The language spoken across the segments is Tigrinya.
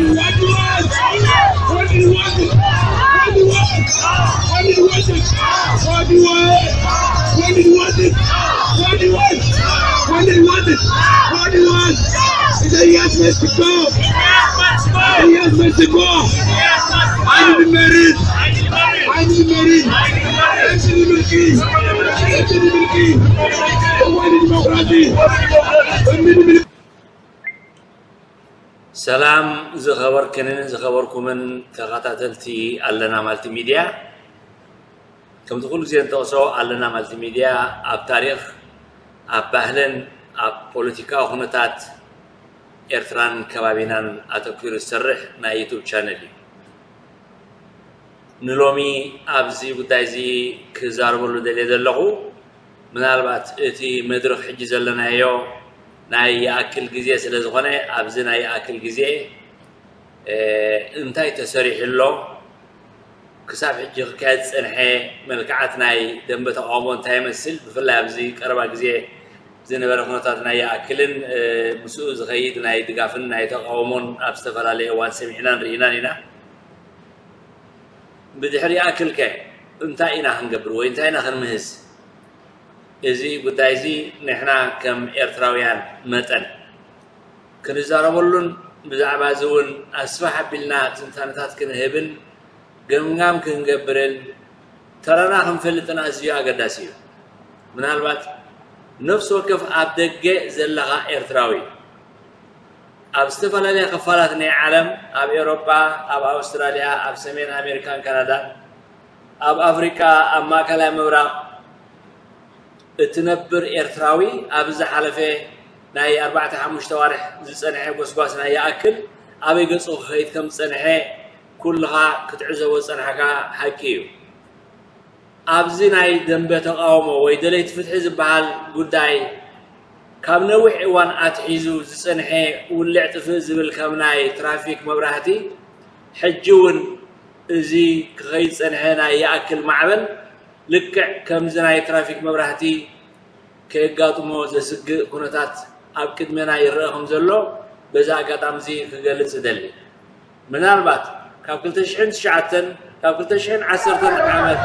What do you want? What do you want? What do you want? What do you want? What do you want? What do you want? What do you want? What do you want? What do you want? What do you want? It's a yes, Mexico. It's a yes, Mexico. I need the marriage. I need the marriage. I need the marriage. I need the marriage. I need the marriage. I need the democracy. I need the ሰላም ዝኸበርክንን ዝኸበርኩምን ተኸታተልቲ ኣለና ማልቲ ሚድያ። ከምቲ ኩሉ ግዜ እንጠቕሶ ኣለና ማልቲ ሚድያ ኣብ ታሪኽ፣ ኣብ ባህልን ኣብ ፖለቲካዊ ኩነታት ኤርትራን ከባቢናን ኣተኲሩ ዝሰርሕ ናይ ዩቱብ ቻነል እዩ። ንሎሚ ኣብዚ ጉዳይ እዚ ክዛረበሉ ደልየ ዘለኹ ምናልባት እቲ መድረኽ ሕጂ ዘለናዮ ናይ ይኣክል ግዜ ስለ ዝኾነ ኣብዚ ናይ ይኣክል ግዜ እንታይ ተሰሪሑ ኣሎ፣ ክሳብ ሕጂ ክካየድ ዝጸንሐ መልክዓት ናይ ደንበ ተቓውሞ እንታይ ይመስል፣ ብፍላይ ኣብዚ ቀረባ ግዜ ዝነበረ ኩነታት ናይ ይኣክልን ምስኡ ዝኸይድ ናይ ድጋፍን ናይ ተቓውሞን ኣብ ዝተፈላለየ እዋን ሰሚዕናን ርኢናን ኢና። ብድሕሪ ይኣክልከ እንታይ ኢና ክንገብር ወይ እንታይ ኢና ክንምህዝ? እዚ ጉዳይ እዚ ንሕና ከም ኤርትራውያን መጠን ክንዛረበሉን ብዛዕባ እዚ እውን ኣስፍሕ ኣቢልና ትንታነታት ክንህብን ገምጋም ክንገብርን ተራና ክንፈልጥን ኣዝዩ ኣገዳሲ እዩ። ምናልባት ነፍሲ ወከፍ ኣብ ደገ ዘለኻ ኤርትራዊ ኣብ ዝተፈላለያ ክፋላት ናይ ዓለም፣ ኣብ ኤውሮጳ፣ ኣብ ኣውስትራልያ፣ ኣብ ሰሜን ኣሜሪካን ካናዳን፣ ኣብ ኣፍሪቃ፣ ኣብ ማእከላይ ምብራቕ እትነብር ኤርትራዊ ኣብ ዝሓለፈ ናይ ኣርባዕተ ሓሙሽተ ኣዋርሕ ዝጸንሐ ጎስጓስ ናይ ይኣክል ኣበይ ገጹ ክኸይድ ከም ዝጸንሐ ኩልኻ ክትዕዘቦ ዝጸናሕካ ሓቂ እዩ። ኣብዚ ናይ ደንበ ተቓውሞ ወይ ደለይቲ ፍትሒ ዝበሃል ጉዳይ ካብ ነዊሕ እዋን ኣትሒዙ ዝጸንሐ ውልዕ ጥፍእ ዝብል ከም ናይ ትራፊክ መብራህቲ ሕጂ እውን እዚ ክኸይድ ዝጸንሐ ናይ ይኣክል ማዕበል ልክዕ ከምዚ ናይ ትራፊክ መብራህቲ ከየጋጥሞ ዘስግእ ኩነታት ኣብ ቅድሜና ይረኣ ከም ዘሎ በዚ ኣጋጣሚ እዚ ክገልጽ እደሊ። ምናልባት ካብ ክልተ ሽሕን ትሽዓተን ካብ ክልተ ሽሕን ዓሰርተን ዓመት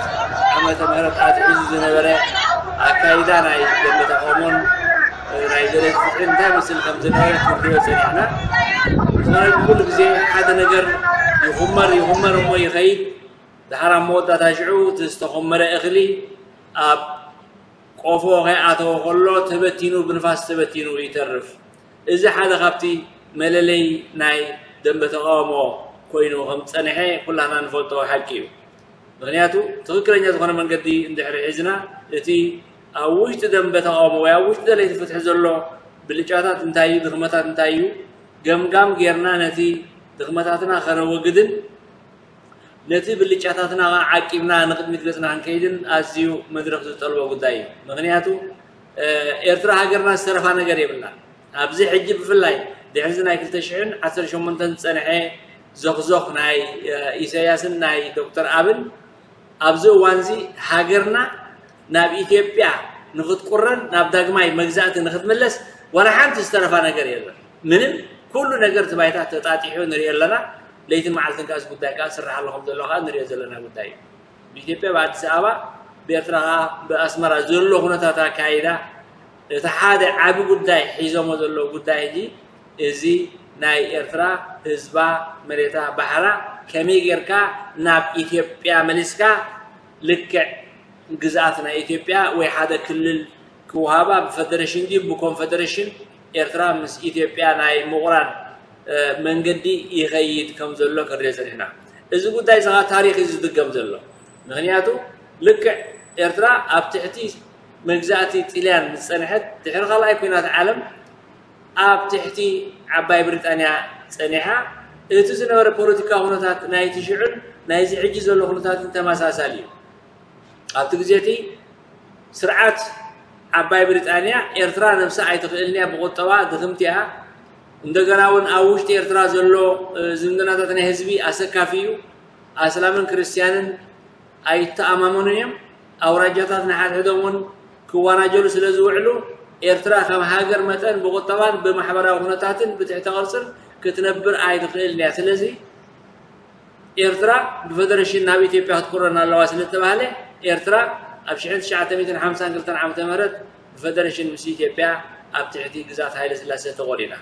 ዓመተ ምህረት ኣትሒዙ ዝነበረ ኣካይዳ ናይ ደንበ ተቓውሞን ናይ ደለይቲ ፍትሕን እንታይ ይመስል ከም ዝነበረ ክንሪኦ ጸኒሕና። ምኽንያቱ ኩሉ ግዜ ሓደ ነገር ይኹመር ይኹመር እሞ ይኸይድ፣ ድሓር ኣብ መወዳእታ ሽዑ እቲ ዝተኾመረ እኽሊ ኣብ ቆፎ ከይኣተወ ከሎ ተበቲኑ ብንፋስ ተበቲኑ ይተርፍ። እዚ ሓደ ካብቲ መለለይ ናይ ደንበ ተቓውሞ ኮይኑ ከም ዝጸንሐ ኩላና ንፈልጦ ሓቂ እዩ። ምኽንያቱ ትኽክለኛ ዝኾነ መንገዲ እንድሕሪ ሒዝና እቲ ኣብ ውሽጢ ደንበ ተቓውሞ ወይ ኣብ ውሽጢ ደለይቲ ፍትሒ ዘሎ ብልጫታት እንታይ እዩ፣ ድኽመታት እንታይ እዩ ገምጋም ጌርና ነቲ ድኽመታትና ከነወግድን ነቲ ብልጫታትና ከዓ ዓቂብና ንቕድሚት ገጽና ክንከይድን ኣዝዩ መድረኽ ዝጠልቦ ጉዳይ እዩ። ምኽንያቱ ኤርትራ ሃገርና ዝተረፋ ነገር የብላን። ኣብዚ ሕጂ ብፍላይ ድሕሪ እዚ ናይ ክልተ ሽሕን ዓሰርተ ሸሞንተን ዝጸንሐ ዞኽዞኽ ናይ ኢሳያስን ናይ ዶክተር ኣብን ኣብዚ እዋን እዚ ሃገርና ናብ ኢትዮጵያ ንኽትቁረን ናብ ዳግማይ መግዛእቲ ንኽትምለስ ዋላ ሓንቲ ዝተረፋ ነገር የለን። ምንም ኩሉ ነገር እቲ ባይታ ተጣጢሑ ንሪኦ ኣለና። ለይትን መዓልትን ከኣ እዚ ጉዳይ ከኣ ዝስራሕ ኣሎ ከም ዘሎ ከኣ ንሪኦ ዘለና ጉዳይ እዩ። ብኢትዮጵያ ብኣዲስ ኣበባ ብኤርትራ ከኣ ብኣስመራ ዘሎ ኩነታት ኣካይዳ እቲ ሓደ ዓቢ ጉዳይ ሒዞሞ ዘለዉ ጉዳይ ሕጂ እዚ ናይ ኤርትራ ህዝባ መሬታ ባሕራ ከመይ ጌርካ ናብ ኢትዮጵያ መሊስካ ልክዕ ግዝኣት ናይ ኢትዮጵያ ወይ ሓደ ክልል ክወሃባ ብፈደረሽን ድዩ ብኮንፈደረሽን ኤርትራ ምስ ኢትዮጵያ ናይ ምቑራን መንገዲ ይኸይድ ከም ዘሎ ክንሪኦ ጸኒሕና። እዚ ጉዳይ እዚ ኸዓ ታሪኽ እዩ ዝድገም ዘሎ። ምኽንያቱ ልክዕ ኤርትራ ኣብ ትሕቲ መግዛእቲ ጥልያን ዝጸንሐት ድሕሪ ካልኣይ ኲናት ዓለም ኣብ ትሕቲ ዓባይ ብሪጣንያ ጸኒሓ እቲ ዝነበረ ፖለቲካዊ ኩነታት ናይቲ ሽዑን ናይዚ ሕጂ ዘሎ ኩነታትን ተመሳሳሊ እዩ። ኣብቲ ግዜ እቲ ስርዓት ዓባይ ብሪጣንያ ኤርትራ ነብሳ ኣይትኽእልን እያ፣ ብቁጠባ ድኽምቲ እያ። እንደገና እውን ኣብ ውሽጢ ኤርትራ ዘሎ ዝምድናታት ናይ ህዝቢ ኣሰካፊ እዩ። ኣስላምን ክርስትያንን ኣይተኣማመኑን እዮም። ኣውራጃታት ንሓድሕዶም እውን ክወናጀሉ ስለ ዝውዕሉ ኤርትራ ከም ሃገር መጠን ብቁጠባን ብማሕበራዊ ኩነታትን ብትሕተ ቅርጽን ክትነብር ኣይትኽእልን እያ። ስለዚ ኤርትራ ብፈደረሽን ናብ ኢትዮጵያ ክትቁረን ኣለዋ ስለተባህለ፣ ኤርትራ ኣብ ሽሕን ትሽዓተ ሚእትን ሓምሳን ክልተን ዓመተ ምህረት ብፈደረሽን ምስ ኢትዮጵያ ኣብ ትሕቲ ግዛት ሃይለ ስላሴ ተቖሪና።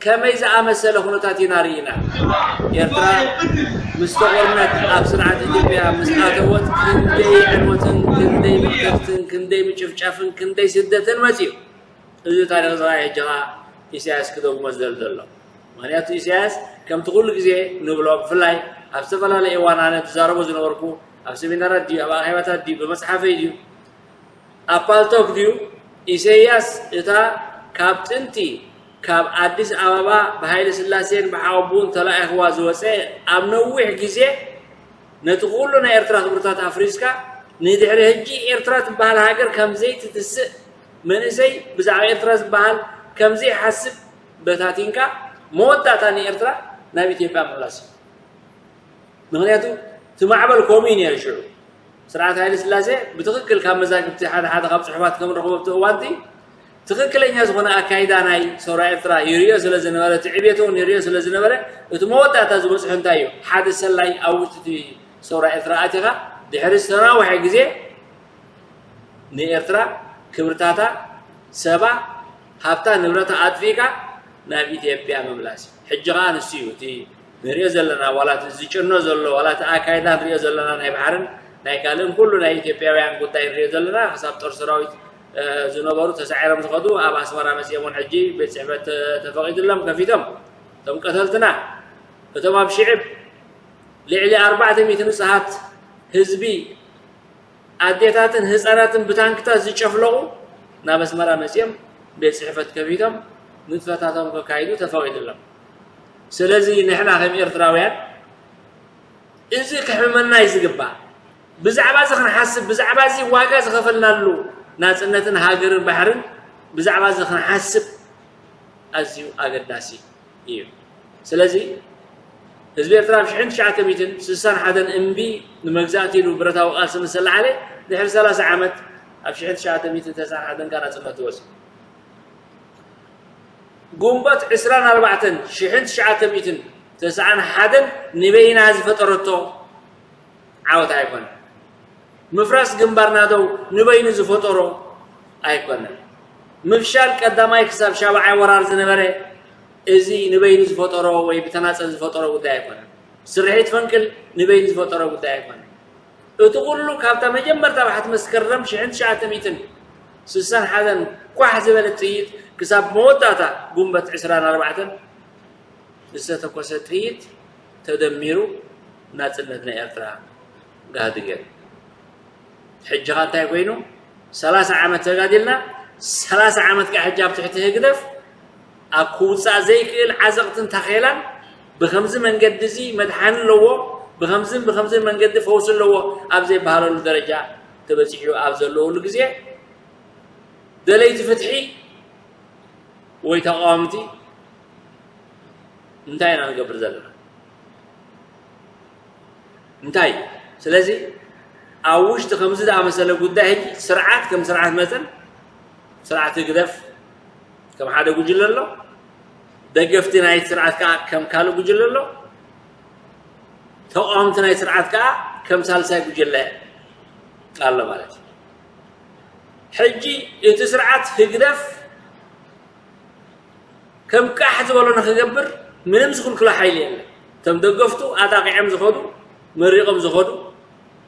ከመይ ዝኣመሰለ ኩነታት ኢና ርኢና? ኤርትራ ምስ ተቖርነት ኣብ ስርዓት ኢትዮጵያ ምስ ኣተወት ክንደይ ዕንወትን ክንደይ መቅተልትን ክንደይ ምጭፍጫፍን ክንደይ ስደትን መጺኡ። እዚ ታሪኽ እዚ ኸኣ ሕጂ ኸኣ ኢሳያስ ክደግሞ ዝደሊ ዘሎ። ምኽንያቱ ኢሳያስ ከምቲ ኩሉ ግዜ ንብሎ፣ ብፍላይ ኣብ ዝተፈላለየ እዋን ኣነ ዝዛረቦ ዝነበርኩ፣ ኣብ ሰሚናራት ድዩ፣ ኣብ ኣኼባታት ድዩ፣ ብመጽሓፈይ ድዩ፣ ኣብ ፓልቶክ ድዩ፣ ኢሳያስ እታ ካብ ጥንቲ ካብ ኣዲስ ኣበባ ብሃይለ ስላሴን ብሓወቡን ተላኢኽዋ ዝወጸ ኣብ ነዊሕ ግዜ ነቲ ኩሉ ናይ ኤርትራ ክብርታት ኣፍሪስካ ንድሕሪ ሕጂ ኤርትራ ትበሃል ሃገር ከም ዘይትትስእ መንእሰይ ብዛዕባ ኤርትራ ዝበሃል ከም ዘይሓስብ በታቲንካ መወዳእታ ንኤርትራ ናብ ኢትዮጵያ ምምላስ እዩ። ምኽንያቱ እቲ ማዕበል ከምኡ እዩ ነይሩ ሽዑ። ስርዓት ሃይለ ስላሴ ብትኽክል ካብ መዛግብቲ ሓደ ሓደ ካብ ጽሑፋት ከም ንረኽቦ ኣብቲ እዋንቲ ትኽክለኛ ዝኾነ ኣካይዳ ናይ ሰውራ ኤርትራ ይርእዮ ስለ ዝነበረ፣ እቲ ዕብየት እውን ይርእዮ ስለ ዝነበረ፣ እቲ መወዳእታ ዝበጽሖ እንታይ እዩ? ሓደ ሰላይ ኣብ ውሽጢ እቲ ሰውራ ኤርትራ ኣቲኻ ድሕሪ ዝተናውሐ ግዜ ንኤርትራ ክብርታታ፣ ሰባ፣ ሃብታ፣ ንብረታ ኣጥፊእካ ናብ ኢትዮጵያ ምምላስ እዩ። ሕጂ ኸኣ ንሱ እዩ እቲ ንሪኦ ዘለና፣ ዋላ እቲ ዝጭኖ ዘሎ፣ ዋላ እቲ ኣካይዳ ንሪኦ ዘለና ናይ ባሕርን ናይ ካልእን ኩሉ ናይ ኢትዮጵያውያን ጉዳይ ንሪኦ ዘለና፣ ክሳብ ጦር ሰራዊት፣ እ፣ ዝነበሩ ተሳዒሮም ዝኸዱ ኣብ ኣስመራ መጺኦም እውን ሕጂ ቤት ጽሕፈት ተ-፣ ተፈቒድሎም ከፊቶም። እቶም ቀተልትና፣ እቶም ኣብ ሽዕብ ልዕሊ ኣርባዕተ ሚእቲ ንጹሃት ህዝቢ ኣዴታትን ህጻናትን ብታንክታት ዝጨፍለቑ ናብ ኣስመራ መጺኦም ቤት ጽሕፈት ከፊቶም ንጥፈታቶም ከካይዱ ተፈቒዱሎም። ስለዚ ንሕና ከም ኤርትራውያን እዚ ከሕምመና እዩ ዝግባእ። ብዛዕባ እዚ ክንሓስብ፣ ብዛዕባ እዚ ዋጋ ዝኸፈልናሉ ናጽነትን ሃገርን ባሕርን ብዛዕባ እዚ ክንሓስብ ኣዝዩ ኣገዳሲ እዩ። ስለዚ ህዝቢ ኤርትራ ኣብ ሽሕን ትሽዓተ ሚእትን ስሳን ሓደን እምቢ ንመግዛእቲ ኢሉ ብረታዊ ቃልሲ ምስ ተላዓለ ድሕሪ ሰላሳ ዓመት ኣብ ሽሕን ትሽዓተ ሚእትን ተስዓን ሓደን ከኣ ናጽነቱ ወስድ። ግንቦት ዕስራን ኣርባዕተን ሽሕን ትሽዓተ ሚእትን ተስዓን ሓደን ንበይና ዝፈጠረቶ ዓወት ኣይኮነን። ምፍራስ ግንባር ናደው ንበይኑ ዝፈጠሮ ኣይኮነን። ምፍሻል ቀዳማይ ክሳብ ሻብዓይ ወራር ዝነበረ እዚ ንበይኑ ዝፈጠሮ ወይ ብተናጸል ዝፈጠሮ ጉዳይ ኣይኮነን። ስርሒት ፈንቅል ንበይኑ ዝፈጠሮ ጉዳይ ኣይኮነን። እቲ ኩሉ ካብታ መጀመርታ ባሕቲ መስከረም ሽሕን ትሽዓተ ሚእትን ስሳን ሓደን ኳሕ ዝበለት ጥይት ክሳብ መወዳእታ ግንቦት ዕስራን ኣርባዕተን ዝተተኮሰ ጥይት ተደሚሩ ናጽነት ናይ ኤርትራ ጋህዲ ገይሩ። ሕጂ ኸ እንታይ ኮይኑ? ሰላሳ ዓመት ተጋዲልና፣ ሰላሳ ዓመት ከኣ ሕጂ ኣብ ትሕቲ ህግደፍ ኣብ ክውጻእ ዘይክእል ዓዘቕትን ታኼላን ብኸምዚ መንገዲ እዚ መድሓኒ ኣለዎ፣ ብኸምዝን ብኸምዝን መንገዲ ፈውሲ ኣለዎ ኣብ ዘይበሃለሉ ደረጃ ተበጺሑ ኣብ ዘለወሉ ግዜ ደለይቲ ፍትሒ ወይ ተቃወምቲ እንታይ ኢና ንገብር ዘለና? እንታይ እዩ? ስለዚ ኣብ ውሽጢ ከምዚ ዝኣመሰለ ጉዳይ ሕጂ ስርዓት ከም ስርዓት መጠን ስርዓት ህግደፍ ከም ሓደ ጉጅለ ኣሎ፣ ደገፍቲ ናይ ስርዓት ከኣ ከም ካልእ ጉጅለ ኣሎ፣ ተቃወምቲ ናይ ስርዓት ከኣ ከም ሳልሳይ ጉጅለ ኣሎ ማለት እዩ። ሕጂ እቲ ስርዓት ህግደፍ ከም ቃሕ ዝበሎ ንኽገብር ምንም ዝኽልክሎ ሓይሊ የለን። እቶም ደገፍቱ ኣጣቒዖም ዝኸዱ፣ መሪቖም ዝኸዱ፣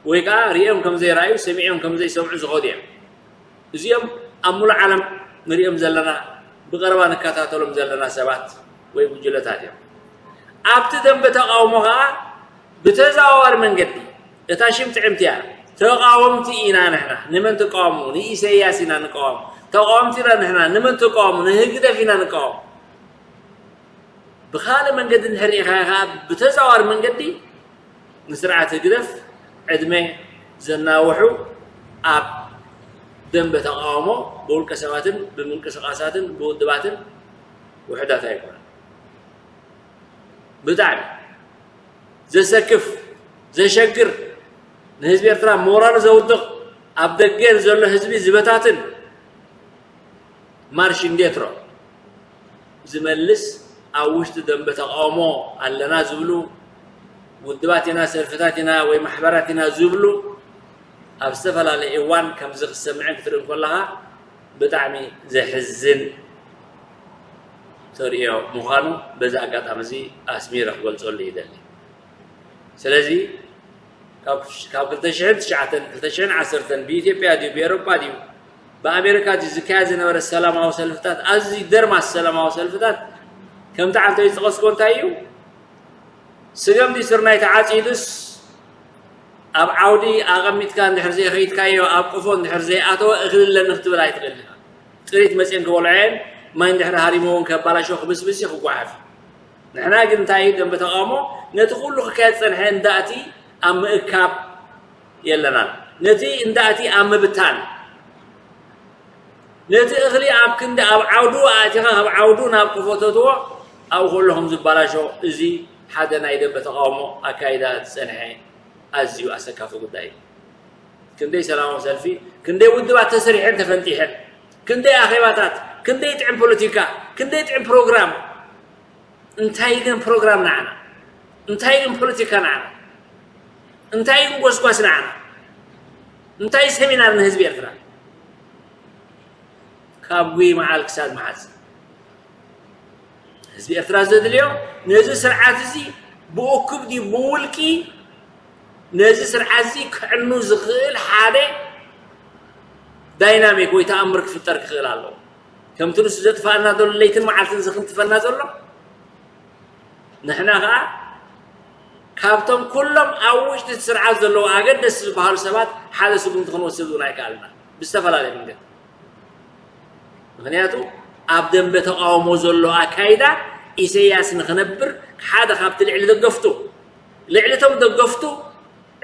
ወይ ከኣ ሪኦም ከም ዘይረኣዩ፣ ሰሚዖም ከም ዘይሰምዑ ዝኸዱ እዮም። እዚኦም ኣብ ሙሉእ ዓለም ንሪኦም ዘለና፣ ብቐረባ ንከታተሎም ዘለና ሰባት ወይ ጉጅለታት እዮም። ኣብቲ ደንበ ተቓውሞ ከኣ ብተዘዋዋሪ መንገዲ እታ ሽም ጥዕምቲ እያ። ተቓወምቲ ኢና ንሕና። ንመን ትቃወሙ? ንኢሰያስ ኢና ንቃወም። ተቓወምቲ ኢና ንሕና። ንመን ትቃወሙ? ንህግደፍ ኢና ንቃወም። ብኻልእ መንገዲ እንድሕር ርኢኻዮ ከኣ ብተዘዋዋሪ መንገዲ ንስርዓት ህግደፍ ዕድመ ዘናውሑ ኣብ ደንበ ተቓውሞ ብውልቀ ሰባትን ብምንቅስቓሳትን ብውድባትን ውሑዳት ኣይኮኑን። ብጣዕሚ ዘሰክፍ፣ ዘሸግር፣ ንህዝቢ ኤርትራ ሞራሉ ዘውድቕ፣ ኣብ ደገ ንዘሎ ህዝቢ ዝበታትን ማርሽ እንዴትሮ ዝመልስ ኣብ ውሽጢ ደንበ ተቃውሞ ኣለና ዝብሉ ውድባት ኢና፣ ሰልፍታት ኢና ወይ ማሕበራት ኢና ዝብሉ ኣብ ዝተፈላለየ እዋን ከምዚ ክትሰምዕን ክትርእን ከለኻ ብጣዕሚ ዘሕዝን ተርእዮ ምዃኑ በዚ ኣጋጣሚ እዚ ኣስሚረ ክገልጸሉ ይደሊ። ስለዚ ካብ ካብ ክልተ ሽሕን ትሽዓተን ክልተ ሽሕን ዓሰርተን ብኢትዮጵያ ድዩ ብኤሮጳ ድዩ ብኣሜሪካ ድዩ ዝካየድ ዝነበረ ሰላማዊ ሰልፍታት ኣዝዩ ደርማስ ሰላማዊ ሰልፍታት ከምቲ ዓንተይ ዝጠቐስኮ እንታይ እዩ? ስገም ድዩ ስርናይ ተዓጺዱስ ኣብ ዓውዲ ኣቐሚጥካ እንድሕር ዘይኸይድካዮ ኣብ ቆፎ እንድሕር ዘይኣተወ እኽሊ ኣለኒ ክትብል ኣይትኽእል ኢኻ። ጥሪት መፅየን ክበልዖ እየን ማይ እንድሕር ሃሪመውን ከባላሾ ክብስብስ እዩ ክጓሓፍ እዩ። ንሕና ግን እንታይ እዩ ደንበ ተቃውሞ ነቲ ኩሉ ክካየድ ዝፀንሐ እንዳእቲ ኣብ ምእካብ የለናን። ነቲ እንዳእቲ ኣብ ምብታን ነቲ እኽሊ ኣብ ክንዲ ኣብ ዓውዱ ኣእቲኻ ካብ ዓውዱ ናብ ክፈተትዎ ኣብኡ ከሎ ከም ዝበላሾ እዚ ሓደ ናይ ደንበ ተቃውሞ ኣካይዳ ዝፀንሐ ኣዝዩ ኣሰካፊ ጉዳይ እዩ። ክንደይ ሰላማዊ ሰልፊ ክንደይ ውድባት ተሰሪሐን ተፈንጢሐን ክንደይ ኣኼባታት ክንደይ ጥዕም ፖለቲካ ክንደይ ጥዕም ፕሮግራም እንታይ ግን ፕሮግራም ንዓና እንታይ ግን ፖለቲካ ንዓና እንታይ ግን ጎስጓስ ንዓና እንታይ ሰሚናር ንህዝቢ ኤርትራ ካብ ጉይ መዓል ክሳድ መዓዝ ህዝቢ ኤርትራ ዘድልዮ ነዚ ስርዓት እዚ ብእኩብ ድዩ ብውልቂ ነዚ ስርዓት እዚ ክዕኑ ዝኽእል ሓደ ዳይናሚክ ወይ ተኣምር ክፍጠር ክኽእል ኣለዎ። ከምቲ ንሱ ዘጥፋእና ዘሎ ለይትን መዓልትን ዝኽንትፈና ዘሎ ንሕና ኸዓ ካብቶም ኩሎም ኣብ ውሽጢ እቲ ስርዓት ዘለዉ ኣገደስቲ ዝበሃሉ ሰባት ሓደ ስጉምቲ ክንወስድ እውን ኣይከኣልና ብዝተፈላለየ መንገዲ። ምኽንያቱ ኣብ ደንበ ተቃውሞ ዘሎ ኣካይዳ ኢሰያስ ንኽነብር ሓደ ካብቲ ልዕሊ ደገፍቱ ልዕሊ እቶም ደገፍቱ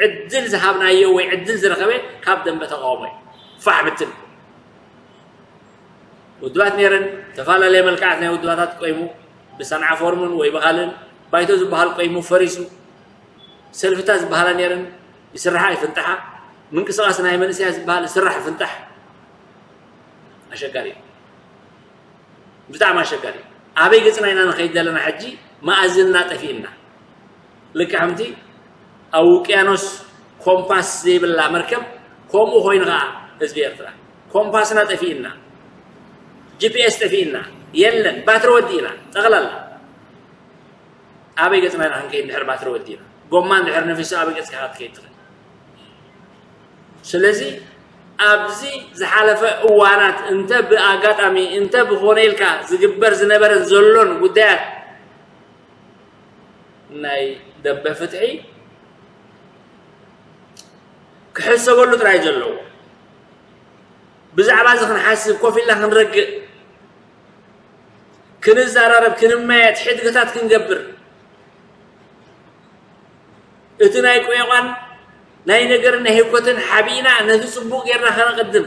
ዕድል ዝሃብናዮ ወይ ዕድል ዝረኸበ ካብ ደንበ ተቃውሞ እዩ። ፋሕ ብትን ውድባት ነይረን ዝተፈላለየ መልክዓት ናይ ውድባታት ቆይሙ ብሰንዓ ፎርምን ወይ ብኻልን ባይቶ ዝበሃል ቆይሙ ፈሪሱ ሰልፍታት ዝበሃላ ነይረን ይስርሓ ይፍንጥሓ ምንቅስቃስ ናይ መንእሰያ ዝበሃል ይስራሕ ይፍንጣሕ ኣሸጋሪ እዩ። ብጣዕሚ ኣሸጋሪ እዩ። ኣበይ ገፅና ኢና ንኸይድ ዘለና ሕጂ መኣዝንና ጠፊእና ልክዕ ከምቲ ኣብ ውቅያኖስ ኮምፓስ ዘይብላ መርከብ ከምኡ ኮይኑ ከዓ ህዝቢ ኤርትራ ኮምፓስና ጠፊእና ጂፒኤስ ጠፊእና የለን ባትሪ ወዲእና ጠቕላላ ኣበይ ገፅና ኢና ክንከይድ ድሕር ባትሪ ወዲእና ጎማ እንድሕር ነፊሱ ኣበይ ገፅካ ክትከይድ ትኽእል ስለዚ ኣብዚ ዝሓለፈ እዋናት እንተ ብኣጋጣሚ እንተ ብኾነ ኢልካ ዝግበር ዝነበረን ዘሎን ጉዳያት ናይ ደበ ፍትሒ ክሕሰበሉ ጥራይ ዘለዎ ብዛዕባ እዚ ክንሓስብ ኮፍ ኢልና ክንረግእ ክንዘራረብ ክንመያየጥ ሕድግታት ክንገብር እቲ ናይ ቆየቋን ናይ ነገርን ናይ ህኮትን ሓቢእና ነቲ ፅቡቅ ጌርና ከነቅድም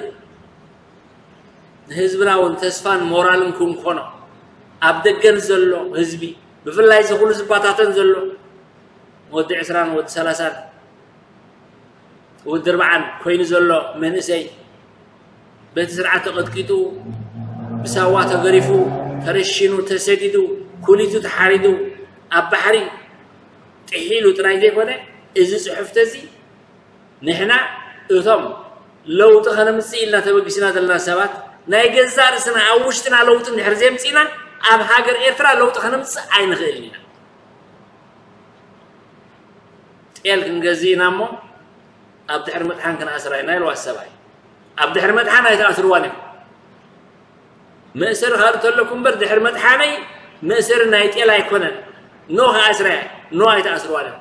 ንህዝብና እውን ተስፋን ሞራልን ክንኮኖ ኣብ ደገን ዘሎ ህዝቢ ብፍላይ እዚ ኩሉ ዝባታተን ዘሎ ወዲ ዕስራን ወዲ ሰላሳን ወዲ ኣርባዓን ኮይኑ ዘሎ መንእሰይ በቲ ስርዓት ተቐጥቂጡ ብሳዋ ተገሪፉ ተረሺኑ ተሰዲዱ ኩሊቱ ተሓሪዱ ኣብ ባሕሪ ጥሒሉ ጥራይ ዘይኮነ እዚ ፅሑፍቲ እዚ ንሕና እቶም ለውጢ ከነምፅእ ኢልና ተበጊስና ዘለና ሰባት ናይ ገዛእ ርእስና ኣብ ውሽጥና ለውጢ እንድሕር ዘይምፅእና ኣብ ሃገር ኤርትራ ለውጢ ከነምፅእ ኣይንኽእልን ኢና። ጤል ክንገዝእ ኢና እሞ ኣብ ድሕሪ ምጥሓን ክንኣስራ ኢና ኢልዋ ሰብኣይ። ኣብ ድሕሪ ምጥሓን ኣይትኣስርዋን ኢኹም። መእሰሪ ካልእ ተለኩም እምበር ድሕሪ ምጥሓነይ መእሰሪ ናይ ጤል ኣይኮነን። ኖ ክኣስራ እየ። ኖ ኣይትኣስርዋን ኢኹም።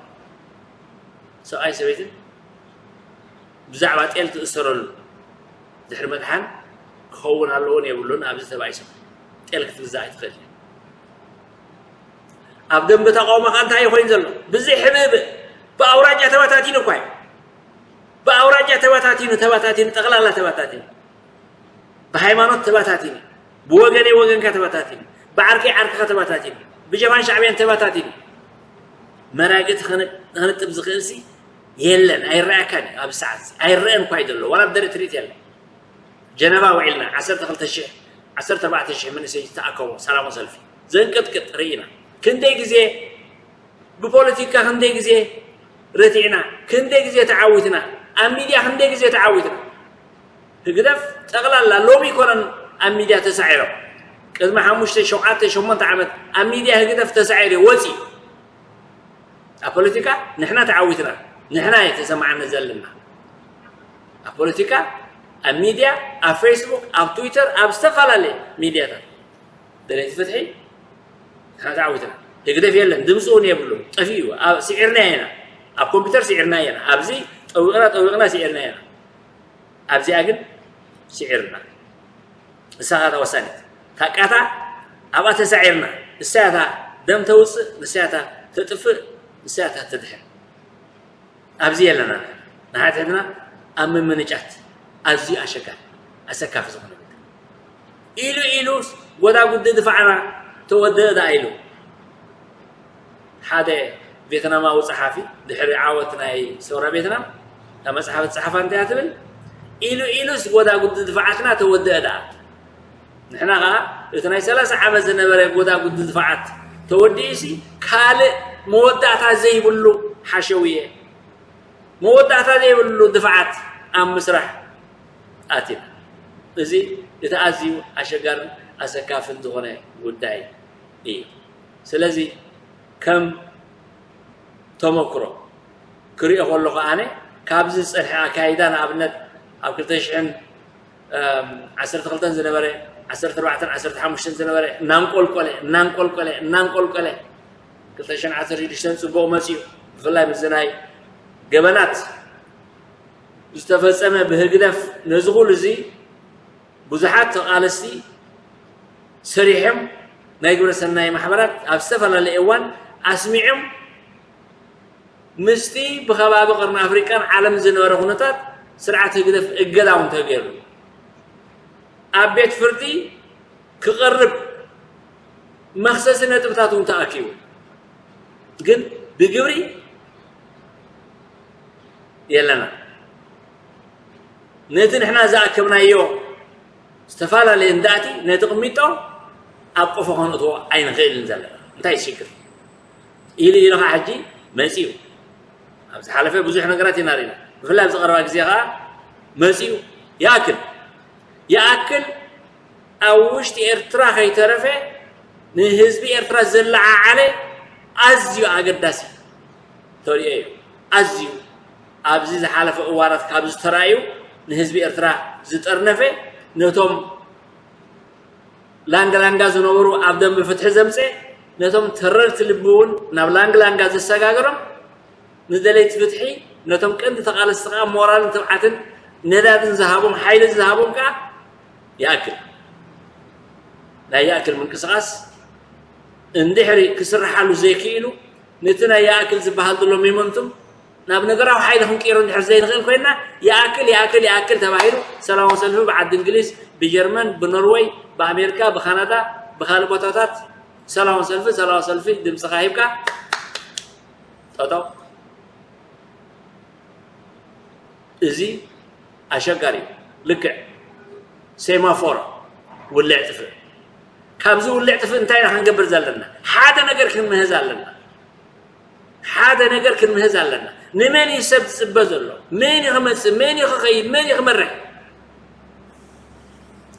ሰብኣይ ሰበይትን ብዛዕባ ጤል ትእሰረሉ ድሕሪ ምጥሓን ክኸውን ኣለዎን የብሉን ኣብዚ ተባኢሶም ጤል ክትግዛእ ኣይትኽእል ኣብ ደንበ ተቃውሞ ከ እንታይ ኮይኑ ዘሎ ብዚ ሕብእብእ ብኣውራጃ ተባታቲኑ እኳ እዩ ብኣውራጃ ተባታቲኑ ተባታቲኑ ጠቕላላ ተባታቲኑ ብሃይማኖት ተባታቲኑ ብወገነይ ወገንካ ተባታቲኑ ብዓርከይ ዓርክኻ ተባታቲኑ ብጀባን ሻዕብያን ተባታቲኑ መራግእቲ ከነጥብ ዝኽእል ሲ የለን ኣይረኣካን እዩ ኣብዚ ሰዓት እዚ ኣይረአን እኳ እዩ ዘሎ ዋላ ብደርኢ ትርኢት የለን ጀነቫ ውዒልና ዓሰርተ ክልተ ሽሕ ዓሰርተ ኣርባዕተ ሽሕ መንእሰይ ዝተኣከቦ ሰላማዊ ሰልፊ ዘንቅጥቅጥ ርኢና። ክንደይ ግዜ ብፖለቲካ ክንደይ ግዜ ረቲዕና፣ ክንደይ ግዜ ተዓዊትና፣ ኣብ ሚድያ ክንደይ ግዜ ተዓዊትና። ህግደፍ ጠቕላላ ሎሚ ኣይኮነን ኣብ ሚድያ ተሳዒሮም። ቅድሚ ሓሙሽተ፣ ሸውዓተ፣ ሸሞንተ ዓመት ኣብ ሚድያ ህግደፍ ተሳዒሩ ወፂ። ኣብ ፖለቲካ ንሕና ተዓዊትና፣ ንሕና እየ ተሰማዓኒ ዘለና። ኣብ ፖለቲካ፣ ኣብ ሚድያ፣ ኣብ ፌስቡክ፣ ኣብ ትዊተር፣ ኣብ ዝተፈላለየ ሚድያታት ደለይቲ ፍትሒ ንሕና ተዓዊትና። ህግደፍ የለን፣ ድምፂ እውን የብሉ፣ ጠፊኡ። ኣብ ስዒርና ኢና፣ ኣብ ኮምፒውተር ስዒርና ኢና፣ ኣብዚ ጠዊቕና ጠዊቕና ስዒርና ኢና። ኣብዚኣ ግን ስዒርና። ንሳ እታ ወሳኒት ታቃታ ኣብኣ ተሳዒርና። ንሳ እያ እታ ደም ተውፅእ፣ ንሳ እያ እታ ተጥፍእ፣ ንሳ እያ እታ ተድሕን። ኣብዚ የለና። ንሓድሕድና ኣብ ምምንጫት ኣዝዩ ኣሸጋሪ፣ ኣሰካፊ ዝኾነ ጉዳይ። ኢሉ ኢሉ ጎዳጉዲ ድፋዕና ተወደአ ደኣ ኢሉ። ሓደ ቬትናማዊ ጸሓፊ ድሕሪ ዓወት ናይ ሰውራ ቬትናም እታ መጽሓፍ ዝጸሓፋ እንታይ እያ ትብል? ኢሉ ኢሉስ ጎዳጉዲ ድፋዓትና ተወደአ ደኣ። ንሕና ኸኣ እቲ ናይ ሰላሳ ዓመት ዝነበረ ጎዳጉዲ ድፋዓት ተወዲኡሲ ካልእ መወዳእታ ዘይብሉ ሓሸውየ፣ መወዳእታ ዘይብሉ ድፋዓት ኣብ ምስራሕ ኣቲና። እዚ እቲ ኣዝዩ ኣሸጋርን ኣሰካፍን ዝኾነ ጉዳይ እዩ። ስለዚ ከም ተመክሮ ክሪኦ ከለኹ ኣነ ካብዚ ዝጸንሐ ኣካይዳ ንኣብነት ኣብ ክልተ ሽሕን ዓሰርተ ክልተን ዝነበረ ዓሰርተ ኣርባዕተን ዓሰርተ ሓሙሽተን ዝነበረ እናንቆልቆለ እናንቆልቆለ እናንቆልቆለ ክልተ ሽሕን ዓሰርተ ሽዱሽተን ጽቡቕ መጺኡ ብፍላይ ምስዚ ናይ ገበናት ዝተፈጸመ ብህግደፍ ነዚ ኩሉ እዚ ብዙሓት ተቓለስቲ ሰሪሖም ናይ ግብረ ሰናይ ማሕበራት ኣብ ዝተፈላለየ እዋን ኣስሚዖም ምስቲ ብኸባቢ ቀርኒ ኣፍሪቃን ዓለም ዝነበረ ኩነታት ስርዓት ህግደፍ እገዳ እውን ተገይሩ ኣብ ቤት ፍርዲ ክቐርብ መኽሰሲ ነጥብታት እውን ተኣኪቡ ግን ብግብሪ የለና ነቲ ንሕና ዝኣከብናዮ ዝተፈላለየ እንዳእቲ ነቲ ቅሚጦ ኣብ ቆፎ ከነእትዎ ኣይንኽእልን ዘለና እንታይ ሽግር ኢሉ ኢሉ ከዓ ሕጂ መፂኡ ኣብ ዝሓለፈ ብዙሕ ነገራት ኢና ርኢና ብፍላይ ኣብ ዝቀረባ ግዜ ከዓ መፂኡ ይኣክል ይኣክል ኣብ ውሽጢ ኤርትራ ከይተረፈ ንህዝቢ ኤርትራ ዘለዓዓለ ኣዝዩ ኣገዳሲ ተሪኦ እዩ ኣዝዩ ኣብዚ ዝሓለፈ እዋናት ካብ ዝተራእዩ ንህዝቢ ኤርትራ ዝጠርነፈ ነቶም ላንጋ ላንጋ ዝነበሩ ኣብ ደንበ ፍትሒ ዘምፀ ነቶም ተረርቲ ልቢ እውን ናብ ላንግ ላንጋ ዘሰጋገሮም ንደለይቲ ፍትሒ ነቶም ቀንዲ ተቓለስቲ ከዓ ሞራልን ትብዓትን ነዳድን ዝሃቦም ሓይልን ዝሃቦም ከዓ ይኣክል ናይ ይኣክል ምንቅስቃስ እንድሕሪ ክስርሓሉ ዘይክኢሉ ነቲ ናይ ይኣክል ዝበሃል ዘሎ ሜሞንቱም ናብ ነገራዊ ሓይሊ ክንቅይሮ እንድሕር ዘይንኽእል ኮይና ይኣክል ይኣክል ይኣክል ተባሂሉ ሰላማዊ ሰልፊ ብዓዲ እንግሊዝ ብጀርመን ብኖርወይ ብኣሜሪካ ብካናዳ ብካልእ ቦታታት ሰላማዊ ሰልፊ ሰላማዊ ሰልፊ ድምፅኻ ሂብካ ጠጠው እዚ ኣሸጋሪ ልክዕ ሴማፎር ውልዕ ጥፍእ ካብዚ ውልዕ ጥፍእ እንታይ ኢና ክንገብር ዘለና ሓደ ነገር ክንምህዝ ኣለና ሓደ ነገር ክንምህዝ ኣለና ንመን እዩ ሰብ ዝፅበ ዘሎ መን እዩ ክመፅእ መን እዩ ክኸይድ መን እዩ ክመርሕ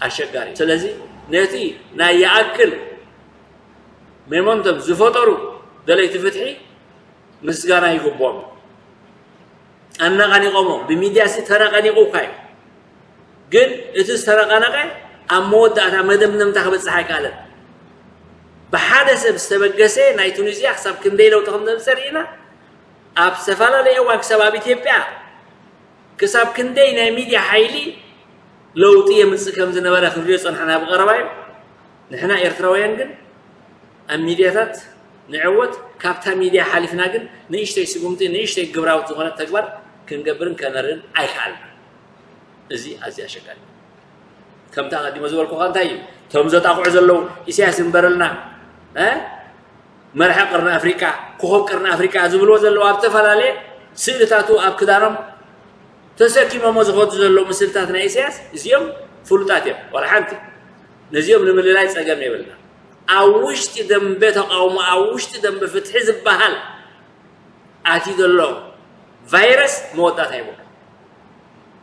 ኣሸጋሪ ስለዚ ነቲ ናይ ይኣክል ሜሞንቶም ዝፈጠሩ ደለይቲ ፍትሒ ምስጋና ይግብኦም ኣነቓኒቖሞ ብሚድያ ሲ ተነቐኒቑ እኳ እዩ ግን እቲ ዝተነቐነቐ ኣብ መወዳእታ መደምደምታ ክበፅሕ ኣይከኣለን ብሓደ ሰብ ዝተበገሰ ናይ ቱኒዝያ ክሳብ ክንደይ ለውጢ ከም ዘምፀ ርኢና ኣብ ዝተፈላለየ እዋን ክሳብ ኣብ ኢትዮጵያ ክሳብ ክንደይ ናይ ሚድያ ሓይሊ ለውጢ የምፅእ ከም ዝነበረ ክንሪኦ ፀንሐና ብቐረባ እዩ ንሕና ኤርትራውያን ግን ኣብ ሚድያታት ንዕወት ካብታ ሚድያ ሓሊፍና ግን ንእሽተይ ስጉምቲ ንእሽተይ ግብራዊት ዝኾነት ተግባር ክንገብርን ከነርእን ኣይከኣልና እዚ ኣዝያ ኣሸጋሪ ከምቲ ኣቐዲሞ ዝበልኩኻ እንታይ እዩ እቶም ዘጣቕዑ ዘለዉ ኢሳያስ ይንበረልና መርሒ ቅርኒ ኣፍሪቃ ኮኸብ ቅርኒ ኣፍሪቃ ዝብልዎ ዘለዉ ኣብ ዝተፈላለየ ስእልታቱ ኣብ ክዳኖም ተሰኪሞሞ ዝኸዱ ዘለዉ ምስልታት ናይ ኢሳያስ እዚኦም ፍሉጣት እዮም ዋላ ሓንቲ ነዚኦም ንምልላይ ጸገም የብልና ኣብ ውሽጢ ደንበ ተቃውሞ፣ ኣብ ውሽጢ ደንበ ፍትሒ ዝበሃል ኣትዩ ዘሎ ቫይረስ መወዳእታ ይብሉ።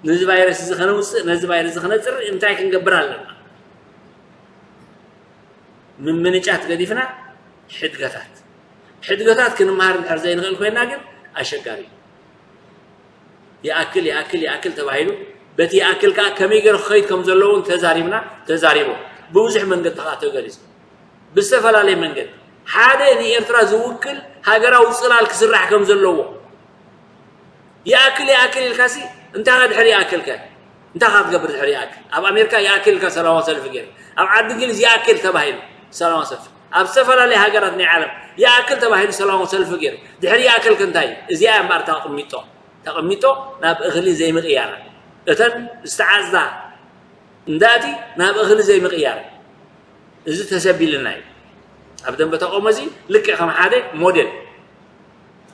ነዚ ቫይረስ እዚ ከነውፅእ፣ ነዚ ቫይረስ እዚ ከነፅሪ እንታይ ክንገብር ኣለና? ምምንጫት ገዲፍና ሕድገታት፣ ሕድገታት ክንመሃር እንድሕር ዘይንኽእል ኮይና ግን ኣሸጋሪ እዩ። ይኣክል ይኣክል ይኣክል ተባሂሉ፣ በቲ ይኣክል ከዓ ከመይ ገይሩ ክኸይድ ከም ዘለዎ እውን ተዛሪብና፣ ተዛሪቦም። ብብዙሕ መንገዲ ከዓ ተገሊፁ። ብዝተፈላለየ መንገዲ ሓደ ንኤርትራ ዝውክል ሃገራዊ ፅላል ክስራሕ ከም ዘለዎ። ይኣክል ይኣክል ኢልካሲ እንታይ ድሕሪ ይኣክልከ? እንታይ ክትገብር ድሕሪ ይኣክል? ኣብ ኣሜሪካ ይኣክል ኢልካ ሰላማዊ ሰልፊ ገይረ፣ ኣብ ዓዲ እንግሊዝ ይኣክል ተባሂሉ ሰላማዊ ሰልፊ፣ ኣብ ዝተፈላለየ ሃገራት ናይ ዓለም ይኣክል ተባሂሉ ሰላማዊ ሰልፊ ገይረ፣ ድሕሪ ይኣክልከ እንታይ እዩ? እዚኣ እያ እምበኣር ተቐሚጦ ተቐሚጦ ናብ እኽሊ ዘይምቕያር፣ እተን ዝተዓፅዳ እንዳእቲ ናብ እኽሊ ዘይምቕያር፣ እዚ ተሰቢልና እዩ። ኣብ ደንበ ተቃውሞ እዚ ልክዕ ከም ሓደ ሞዴል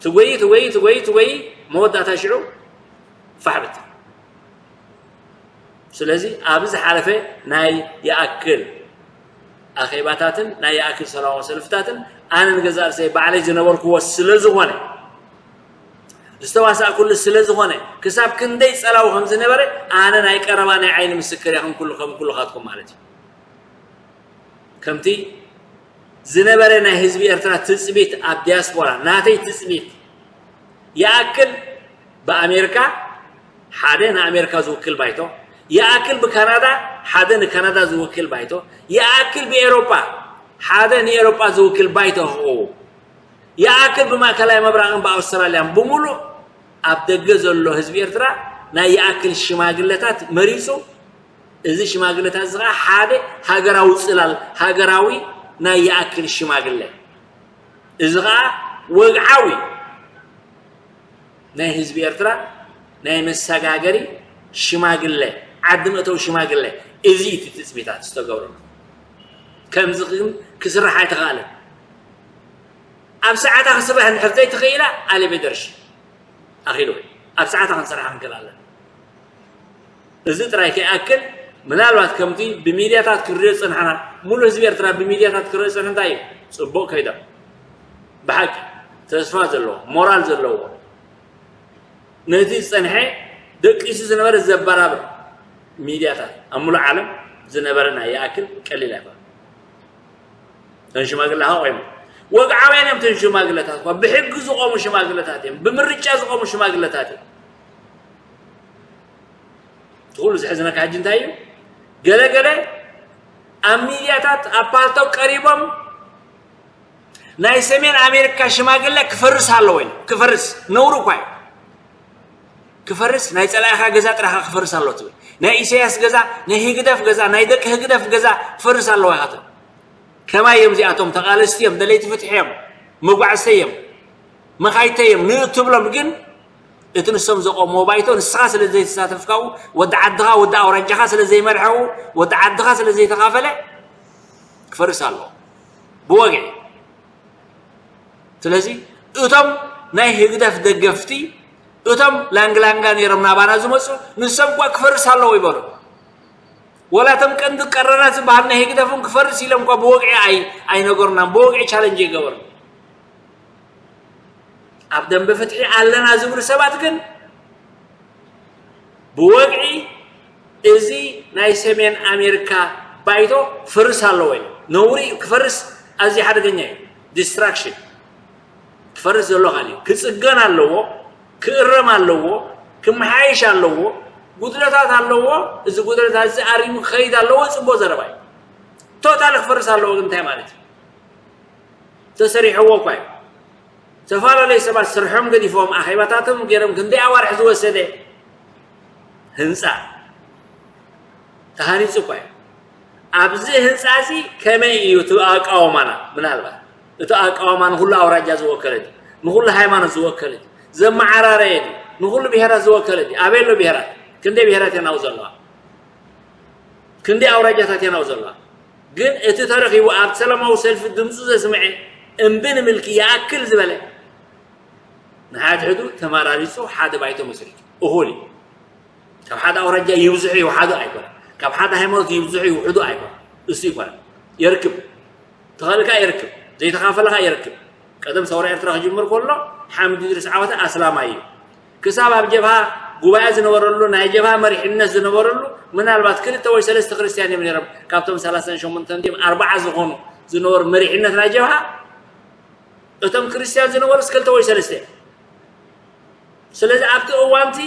ትጎይ ትጎይ ትጎይ ትጎይ መወዳእታ ሽዑ ፋሕብት። ስለዚ ኣብ ዝሓለፈ ናይ ይኣክል ኣኼባታትን ናይ ይኣክል ሰላማዊ ሰልፍታትን ኣነ ንገዛእ ርእሰይ ባዕለይ ዝነበርክዎ ስለ ዝኾነ፣ ዝተዋሳእኩሉ ስለ ዝኾነ፣ ክሳብ ክንደይ ጸላዊ ከም ዝነበረ ኣነ ናይ ቀረባ ናይ ዓይኒ ምስክር እየ፣ ከም ኩሉ ከም ኩልኻትኩም ማለት እዩ። ከምቲ ዝነበረ ናይ ህዝቢ ኤርትራ ትጽቢት ኣብ ዲያስፖራ፣ ናተይ ትጽቢት ይኣክል ብኣሜሪካ ሓደ ንኣሜሪካ ዝውክል ባይቶ፣ ይኣክል ብካናዳ ሓደ ንካናዳ ዝውክል ባይቶ፣ ይኣክል ብኤሮጳ ሓደ ንኤሮጳ ዝውክል ባይቶ ክኸውን፣ ይኣክል ብማእከላይ ምብራቕን ብኣውስትራልያን ብምሉእ ኣብ ደገ ዘሎ ህዝቢ ኤርትራ ናይ ይኣክል ሽማግለታት መሪጹ። እዚ ሽማግለታት እዚ ኸዓ ሓደ ሃገራዊ ጽላል፣ ሃገራዊ ናይ ይኣክል ሽማግለ፣ እዚ ኸዓ ወግዓዊ ናይ ህዝቢ ኤርትራ ናይ መሰጋገሪ ሽማግለ፣ ዓዲ መእተዊ ሽማግለ፣ እዚ እዩ እቲ ትጽቢታት ዝተገብረሉ። ከምዚ ግን ክስራሕ ኣይተኻእለን። ኣብ ሰዓታ ክስራሕ እንድሕር ዘይተኽኢላ ኣሌቤደርሽ ኣኺሉ ኣብ ሰዓታ ክንሰርሓ ክንክእል ኣለና። እዚ ጥራይ ከይኣክል፣ ምናልባት ከምቲ ብሚድያታት ክንሪኦ ዝጸናሕና፣ ሙሉእ ህዝቢ ኤርትራ ብሚድያታት ክሪኦ ዝጸንሐ እንታይ እዩ? ጽቡቕ ከይዶም። ብሓቂ ተስፋ ዘለዎ፣ ሞራል ዘለዎ፣ ነቲ ዝጸንሐ ደቂሱ ዝነበረ ዘበራብር ሚድያታት ኣብ ሙሉእ ዓለም ዝነበረ ናይ ይኣክል ቀሊል ኣይኮነን። እተን ሽማግለ ሃቆ እዮም። ወግዓውያን እዮም እተን ሽማግለታት እኳ። ብሕጊ ዝቆሙ ሽማግለታት እዮም። ብምርጫ ዝቆሙ ሽማግለታት እዮም። እቲ ኩሉ ዝሕዝነካ ሕጂ እንታይ እዩ? ገለ ገለ ኣብ ሚድያታት ኣብ ፓልቶክ ቀሪቦም ናይ ሰሜን ኣሜሪካ ሽማግለ ክፈርስ ኣለዎ ኢሉ። ክፈርስ ነውሪ እኳ እዩ። ክፈርስ ናይ ጸላኢኻ ገዛ ጥራኻ ክፈርስ ኣለዎ ትብል። ናይ ኢሳያስ ገዛ፣ ናይ ህግደፍ ገዛ፣ ናይ ደቂ ህግደፍ ገዛ ክፈርስ ኣለዎ ኢኻ ትብል። ከማይ እዮም እዚኣቶም፣ ተቓለስቲ እዮም፣ ደለይቲ ፍትሒ እዮም፣ መጓዕዝተይ እዮም፣ መኻይተይ እዮም ንእትብሎም ግን እቲ ንሶም ዘቆምዎ ባይቶ ንስኻ ስለ ዘይተሳተፍካው፣ ወዲ ዓድኻ፣ ወዲ ኣውራጃኻ ስለ ዘይመርሐው፣ ወዲ ዓድኻ ስለ ዘይተኻፈለ ክፈርስ ኣለዎ ብወግዒ። ስለዚ እቶም ናይ ህግደፍ ደገፍቲ፣ እቶም ላንግላንጋ ነይሮም ናባና ዝመፁ፣ ንሶም እኳ ክፈርስ ኣለዎ ይበሉ። ወላ እቶም ቀንዲ ቀረናት ዝበሃል ናይ ህግደፍም ክፈርስ ኢሎም እኳ ብወግዒ ኣይ ኣይነገሩናን፣ ብወግዒ ቻለንጅ ይገበሩ። ኣብ ደንበ ፍትሒ ኣለና ዝብሉ ሰባት ግን ብወግዒ እዚ ናይ ሰሜን ኣሜሪካ ባይቶ ክፈርስ ኣለዎ እዩ። ነውሪ እዩ፣ ክፈርስ ኣዝዩ ሓደገኛ እዩ። ዲስትራክሽን ክፈርስ ዘሎ ካል እዩ። ክጽገን ኣለዎ፣ ክእረም ኣለዎ፣ ክመሓየሽ ኣለዎ፣ ጉድለታት ኣለዎ። እዚ ጉድለታት እዚ ኣሪሙ ክኸይድ ኣለዎ። ጽቡቕ ዘረባ እዩ። ቶታል ክፈርስ ኣለዎ ግን እንታይ ማለት እዩ? ተሰሪሕዎ እኳ እዩ። ዝተፈላለዩ ሰባት ስርሖም ገዲፎም ኣኼባታቶም ገይሮም ክንደይ ኣዋርሕ ዝወሰደ ህንፃ ተሃኒፁ እኳ እዩ። ኣብዚ ህንፃ እዚ ከመይ እዩ እቲ ኣቃውማና? ምናልባት እቲ ኣቃውማ ንኩሉ ኣውራጃ ዝወከለ ድዩ? ንኩሉ ሃይማኖት ዝወከለ ድዩ? ዘመዓራረየ ድዩ? ንኩሉ ብሄራት ዝወከለ ድዩ? ኣበይ ኣሎ ብሄራት? ክንደይ ብሄራት እየን ኣብኡ ዘለዋ? ክንደይ ኣውራጃታት እየን ኣብኡ ዘለዋ? ግን እቲ ተረኺቡ ኣብቲ ሰላማዊ ሰልፊ ድምፁ ዘስምዐ እምቢ ንምልኪ ይኣክል ዝበለ ንሓድሕዱ ተመራሪፁ ሓደ ባይቶ መስሪቱ እኹል እዩ። ካብ ሓደ ኣውራጃ ይብዝሑ ይውሓዱ ኣይኮነን። ካብ ሓደ ሃይማኖት ይብዝሑ ይውሕዱ ኣይኮነን። እሱ ይኮነን። የርክብ። ተኸእልካ ይርክብ፣ ዘይተኻፈለኻ ይርክብ። ቀደም ሰውራ ኤርትራ ክጅምር ከሎ ሓምድ ድሪስ ዓወተ ኣስላማይ እዩ። ክሳብ ኣብ ጀብሃ ጉባኤ ዝነበረሉ፣ ናይ ጀብሃ መሪሕነት ዝነበረሉ፣ ምናልባት ክልተ ወይ ሰለስተ ክርስትያን እዮም ነይሮም። ካብቶም ሰላሳን ሸሞንተን ድዮም ኣርባዓ ዝኾኑ ዝነበሩ መሪሕነት ናይ ጀብሃ፣ እቶም ክርስትያን ዝነበሩስ ክልተ ወይ ሰለስተ እዮም። ስለዚ ኣብቲ እዋንቲ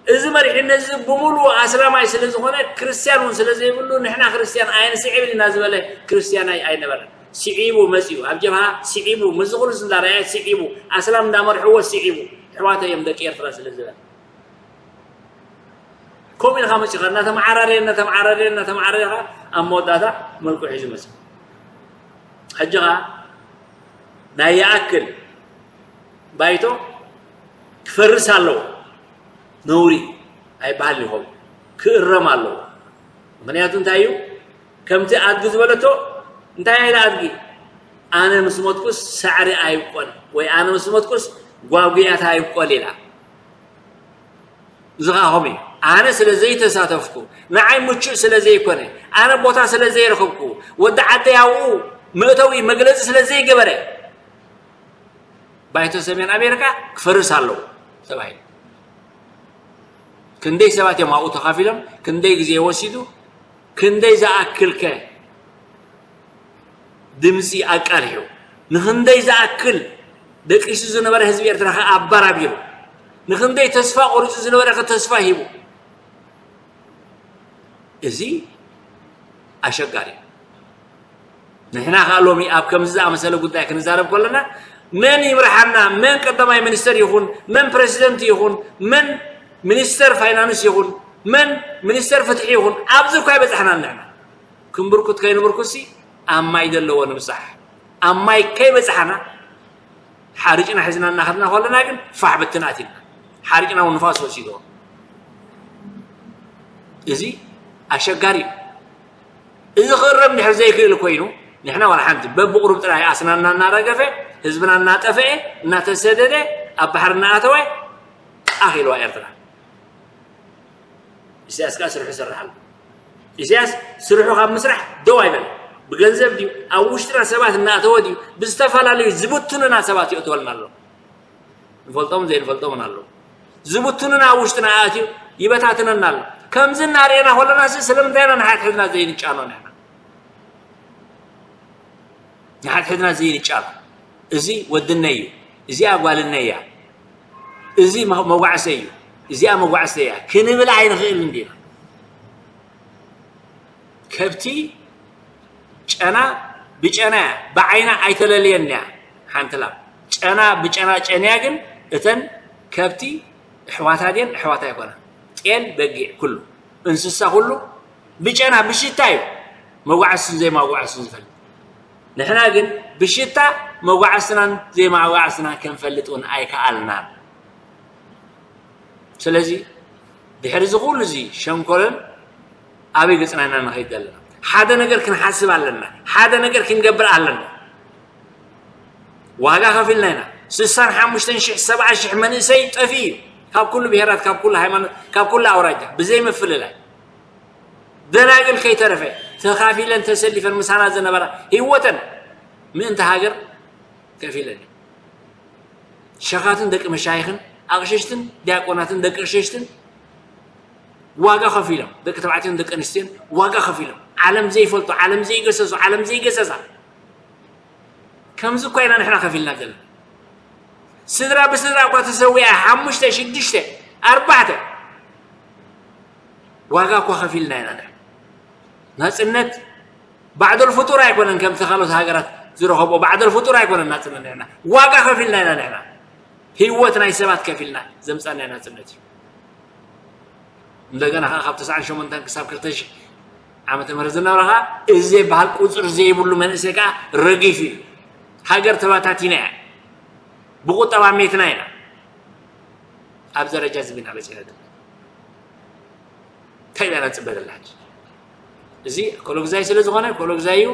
እዚ መሪሕነት እዚ ብምሉኡ ኣስላማይ ስለ ዝኾነ፣ ክርስትያን እውን ስለ ዘይብሉ፣ ንሕና ክርስትያን ኣይንስዕብን ኢና ዝበለ ክርስትያን ኣይ-፣ ኣይነበረን። ስዒቡ መጺኡ፣ ኣብ ጀብሃ ስዒቡ፣ ምስዚ ኩሉ እንዳረኣየ ስዒቡ፣ ኣስላም እንዳመርሕዎ ስዒቡ፣ ኣሕዋተይ እዮም ደቂ ኤርትራ ስለ ዝበለ። ከምኡ ኢልካ መጺኻ እናተመዓራረየ፣ እናተመዓራረየ፣ እናተመዓራረየ ኸዓ ኣብ መወዳእታ መልክዑ ሒዙ መጺኡ። ሕጂ ኸዓ ናይ ይኣክል ባይቶ ክፈርስ ኣለዎ። ነውሪ ኣይበሃል ይኸውን፣ ክእረም ኣለዎ። ምኽንያቱ እንታይ እዩ? ከምቲ ኣድጊ ዝበለቶ፣ እንታይ ኢላ ኣድጊ? ኣነ ምስ ሞትኩስ ሳዕሪ ኣይብቆል፣ ወይ ኣነ ምስ ሞትኩስ ጓጉያት ኣይብቆል ኢላ። እዚ ኸዓ ከምኡ እዩ። ኣነ ስለ ዘይተሳተፍኩ፣ ንዓይ ምቹእ ስለ ዘይኮነ፣ ኣነ ቦታ ስለ ዘይረኸብኩ፣ ወዲ ዓደይ ኣብኡ መእተዊ መግለጺ ስለ ዘይገበረ፣ ባይቶ ሰሜን ኣሜሪካ ክፈርስ ኣለዎ ተባሂሉ። ክንደይ ሰባት እዮም ኣብኡ ተኻፊሎም? ክንደይ ግዜ ወሲዱ? ክንደይ ዝኣክል ከ ድምፂ ኣቃልሑ? ንክንደይ ዝኣክል ደቂሱ ዝነበረ ህዝቢ ኤርትራ ከ ኣባራቢሩ? ንክንደይ ተስፋ ቆሪፁ ዝነበረ ከ ተስፋ ሂቡ? እዚ ኣሸጋሪ እዩ። ንሕና ከኣ ሎሚ ኣብ ከምዚ ዝኣመሰለ ጉዳይ ክንዛረብ ከለና፣ መን ይምርሓና፣ መን ቀዳማይ ሚኒስተር ይኹን፣ መን ፕረሲደንት ይኹን፣ መን ሚኒስተር ፋይናንስ ይኹን፣ መን ሚኒስተር ፍትሒ ይኹን፣ ኣብዚ እኳ ኣይበጻሕናን ንሕና። ክንብርኩት ከይንብርኩትሲ ኣብ ማይ ዘለዎ ንብጻሕ። ኣብ ማይ ከይበጻሕና ሓሪጭና ሒዝና እናኸድና ከለና ግን ፋሕ ብትን ኣቲልና። ሓሪጭና እውን ንፋስ ወሲድዎ። እዚ ኣሸጋሪ እዩ። እዚ ክእረም ድሕር ዘይክእል ኮይኑ፣ ንሕና ዋላ ሓንቲ በብቁሩብ ጥራይ ኣስናና እናረገፈ፣ ህዝብና እናጠፍአ፣ እናተሰደደ፣ ኣብ ባሕሪ እናኣተወ ኣኺልዋ ኤርትራ። ኢሳያስ ከኣ ስርሑ ይሰርሕ ኣሎ። ኢሳያስ ስርሑ ካብ ምስራሕ ደው ኣይበለ። ብገንዘብ ድዩ፣ ኣብ ውሽጥና ሰባት እናኣተወ ድዩ፣ ብዝተፈላለዩ ዝብትኑና ሰባት የእትወልና ኣሎ። ንፈልጦምን ዘይንፈልጦምን ኣለዉ። ዝብትኑና ኣብ ውሽጥና ኣእትዩ ይበታትነና ኣሎ። ከምዚ እናርኤና ከለና ሲ ስለምንታይ ኢና ንሓድሕድና ዘይንጫኖ ንሕና? ንሓድሕድና ዘይንጫኖ። እዚ ወድነይ እዩ፣ እዚኣ ጓልነይ እያ፣ እዚ መ-፣ መጓዕሰይ እዩ፣ እዚኣ መጓዕሰይ እያ ክንብል ኣይንኽእልን ዲና? ከብቲ ጨና ብጨና እያ፣ ብዓይና ኣይተለልየን እያ። ሓንቲ ላም ጨና ብጨና ጨንያ ግን እተን ከብቲ ኣሕዋታ ድየን? ኣሕዋታ ኣይኮና። ጤል፣ በጊዕ፣ ኩሉ እንስሳ ኩሉ ብጨና ብሽታ እዩ መጓዕስን ዘይማጓዕስን ዝፈልጥ። ንሕና ግን ብሽታ መጓዕስናን ዘይማጓዕስናን ክንፈልጥ እውን ኣይከኣልናን። ስለዚ ድሕሪ እዚ ኩሉ እዚ ሸንኮለል ኣበይ ገጽና ኢና ንኸይድ ዘለና? ሓደ ነገር ክንሓስብ ኣለና። ሓደ ነገር ክንገብር ኣለና። ዋጋ ከፊልና ኢና። ስሳን ሓሙሽተን ሽሕ፣ ሰብዓ ሽሕ መንእሰይ ጠፊኡ እዩ። ካብ ኩሉ ብሄራት፣ ካብ ኩሉ ሃይማኖት፣ ካብ ኩሉ ኣውራጃ፣ ብዘይ ምፍልላይ። ደናግል ከይተረፈ ተኻፊለን ተሰሊፈን ምሳና ዝነበራ ህይወተን ምእንቲ ሃገር ከፊለን እዩ። ሸኻትን ደቂ መሻይኽን ኣቕሽሽትን ዲያቆናትን ደቂ ኣቕሽሽትን ዋጋ ከፊሎም፣ ደቂ ተባዕትዮን ደቂ ኣንስትዮን ዋጋ ከፊሎም፣ ዓለም ዘይፈልጡ፣ ዓለም ዘይገሰሱ፣ ዓለም ዘይገሰሳ፣ ከምዚ እኳ ኢና ንሕና ከፊልና ዘለና። ስድራ ብስድራ እኳ ተሰዊኣ፣ ሓሙሽተ፣ ሽዱሽተ፣ ኣርባዕተ ዋጋ እኳ ከፊልና ኢና ንሕና። ናጽነት ባዕደል ፍጡር ኣይኮነን፣ ከምቲ ካልኦት ሃገራት ዝረኸብኦ ባዕደል ፍጡር ኣይኮነን ናጽነት። ንሕና ዋጋ ከፊልና ኢና። ንሕና ህይወት ናይ ሰባት ከፊልና ዘምጻናዮ ናጽነት እዩ። እንደገና ከኣ ካብ ተስዓን ሸሞንተን ክሳብ ክልተ ሽሕ ዓመተ ምህረት ዝነበረ ከኣ እዚ ዝበሃል ቁጽሪ ዘይብሉ መንእሰይ ከኣ ረጊፉ እዩ። ሃገር ተባታቲና እያ። ብቁጠባ ሜትና ኢና። ኣብ ደረጃ እዚ ኢና በጺሕና ዘለና። እንታይ ኢና ነጽበ ዘለና ሕጂ? እዚ ኮሎግዛይ ስለ ዝኾነ ኮሎግዛይ እዩ፣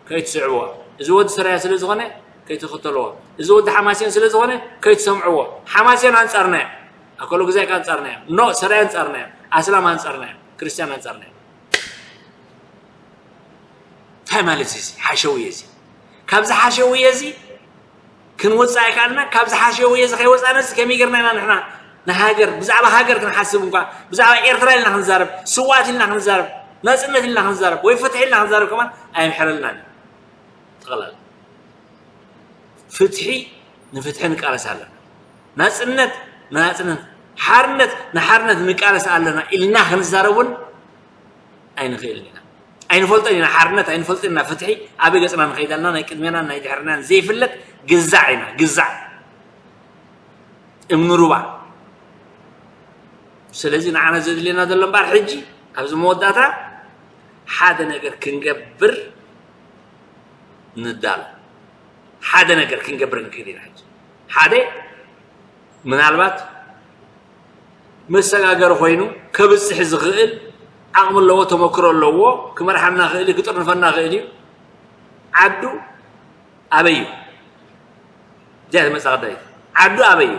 ከይትስዕብዎ። እዚ ወዲ ሰራያ ስለ ዝኾነ ከይትኽተልዎ። እዚ ወዲ ሓማሴን ስለ ዝኾነ ከይትሰምዕዎ። ሓማሴን ኣንጻርና እዮም። ኣኮሎግዛይ ከኣ ኣንጻርና እዮም። ኖ፣ ሰራያ ኣንጻርና እዮም። ኣስላም ኣንጻርና እዮም። ክርስትያን ኣንጻርና እዮም። እንታይ ማለት እዩ እዚ ሓሸውየ እዚ? ካብዚ ሓሸውየ እዚ ክንወፅእ ኣይከኣልና። ካብዚ ሓሸውየ እዚ ከይወፃና እዚ ከመይ ጌርና ኢና ንሕና ንሃገር፣ ብዛዕባ ሃገር ክንሓስብ እንኳ፣ ብዛዕባ ኤርትራ ኢልና ክንዛረብ፣ ስውኣት ኢልና ክንዛረብ፣ ናፅነት ኢልና ክንዛረብ ወይ ፍትሒ ኢልና ክንዛረብ ከማን ኣይምሕረልናን እዩ። ጠቕላላ ፍትሒ ንፍትሒ ንቃለስ ኣለና። ናፅነት ንናፅነት፣ ሓርነት ንሓርነት ንቃለስ ኣለና ኢልና ክንዛረብ እውን ኣይንኽእልን ኢና። ኣይንፈልጦን ኢና፣ ሓርነት ኣይንፈልጦን ኢና፣ ፍትሒ ኣበይ ገፅና ንኸይድ ኣለና፣ ናይ ቅድሜናን ናይ ድሕርናን ዘይፍለጥ ግዛዕ ኢና፣ ግዛዕ እምኒ ሩባ። ስለዚ ንዓና ዘድልየና ዘሎ እምበኣር ሕጂ ኣብዚ መወዳእታ ሓደ ነገር ክንገብር ንዳሎ። ሓደ ነገር ክንገብር ንክእል ኢና። ሕጂ ሓደ ምናልባት መሰጋገሪ ኮይኑ ከብፅሕ ዝኽእል ዓቕሚ ኣለዎ፣ ተመክሮ ኣለዎ፣ ክመርሓና ክእል እዩ፣ ክጥርንፈና ክእል እዩ። ዓዱ ኣበይ እዩ? እዚኣ ትመፅእ ቀዳይት። ዓዱ ኣበይ እዩ?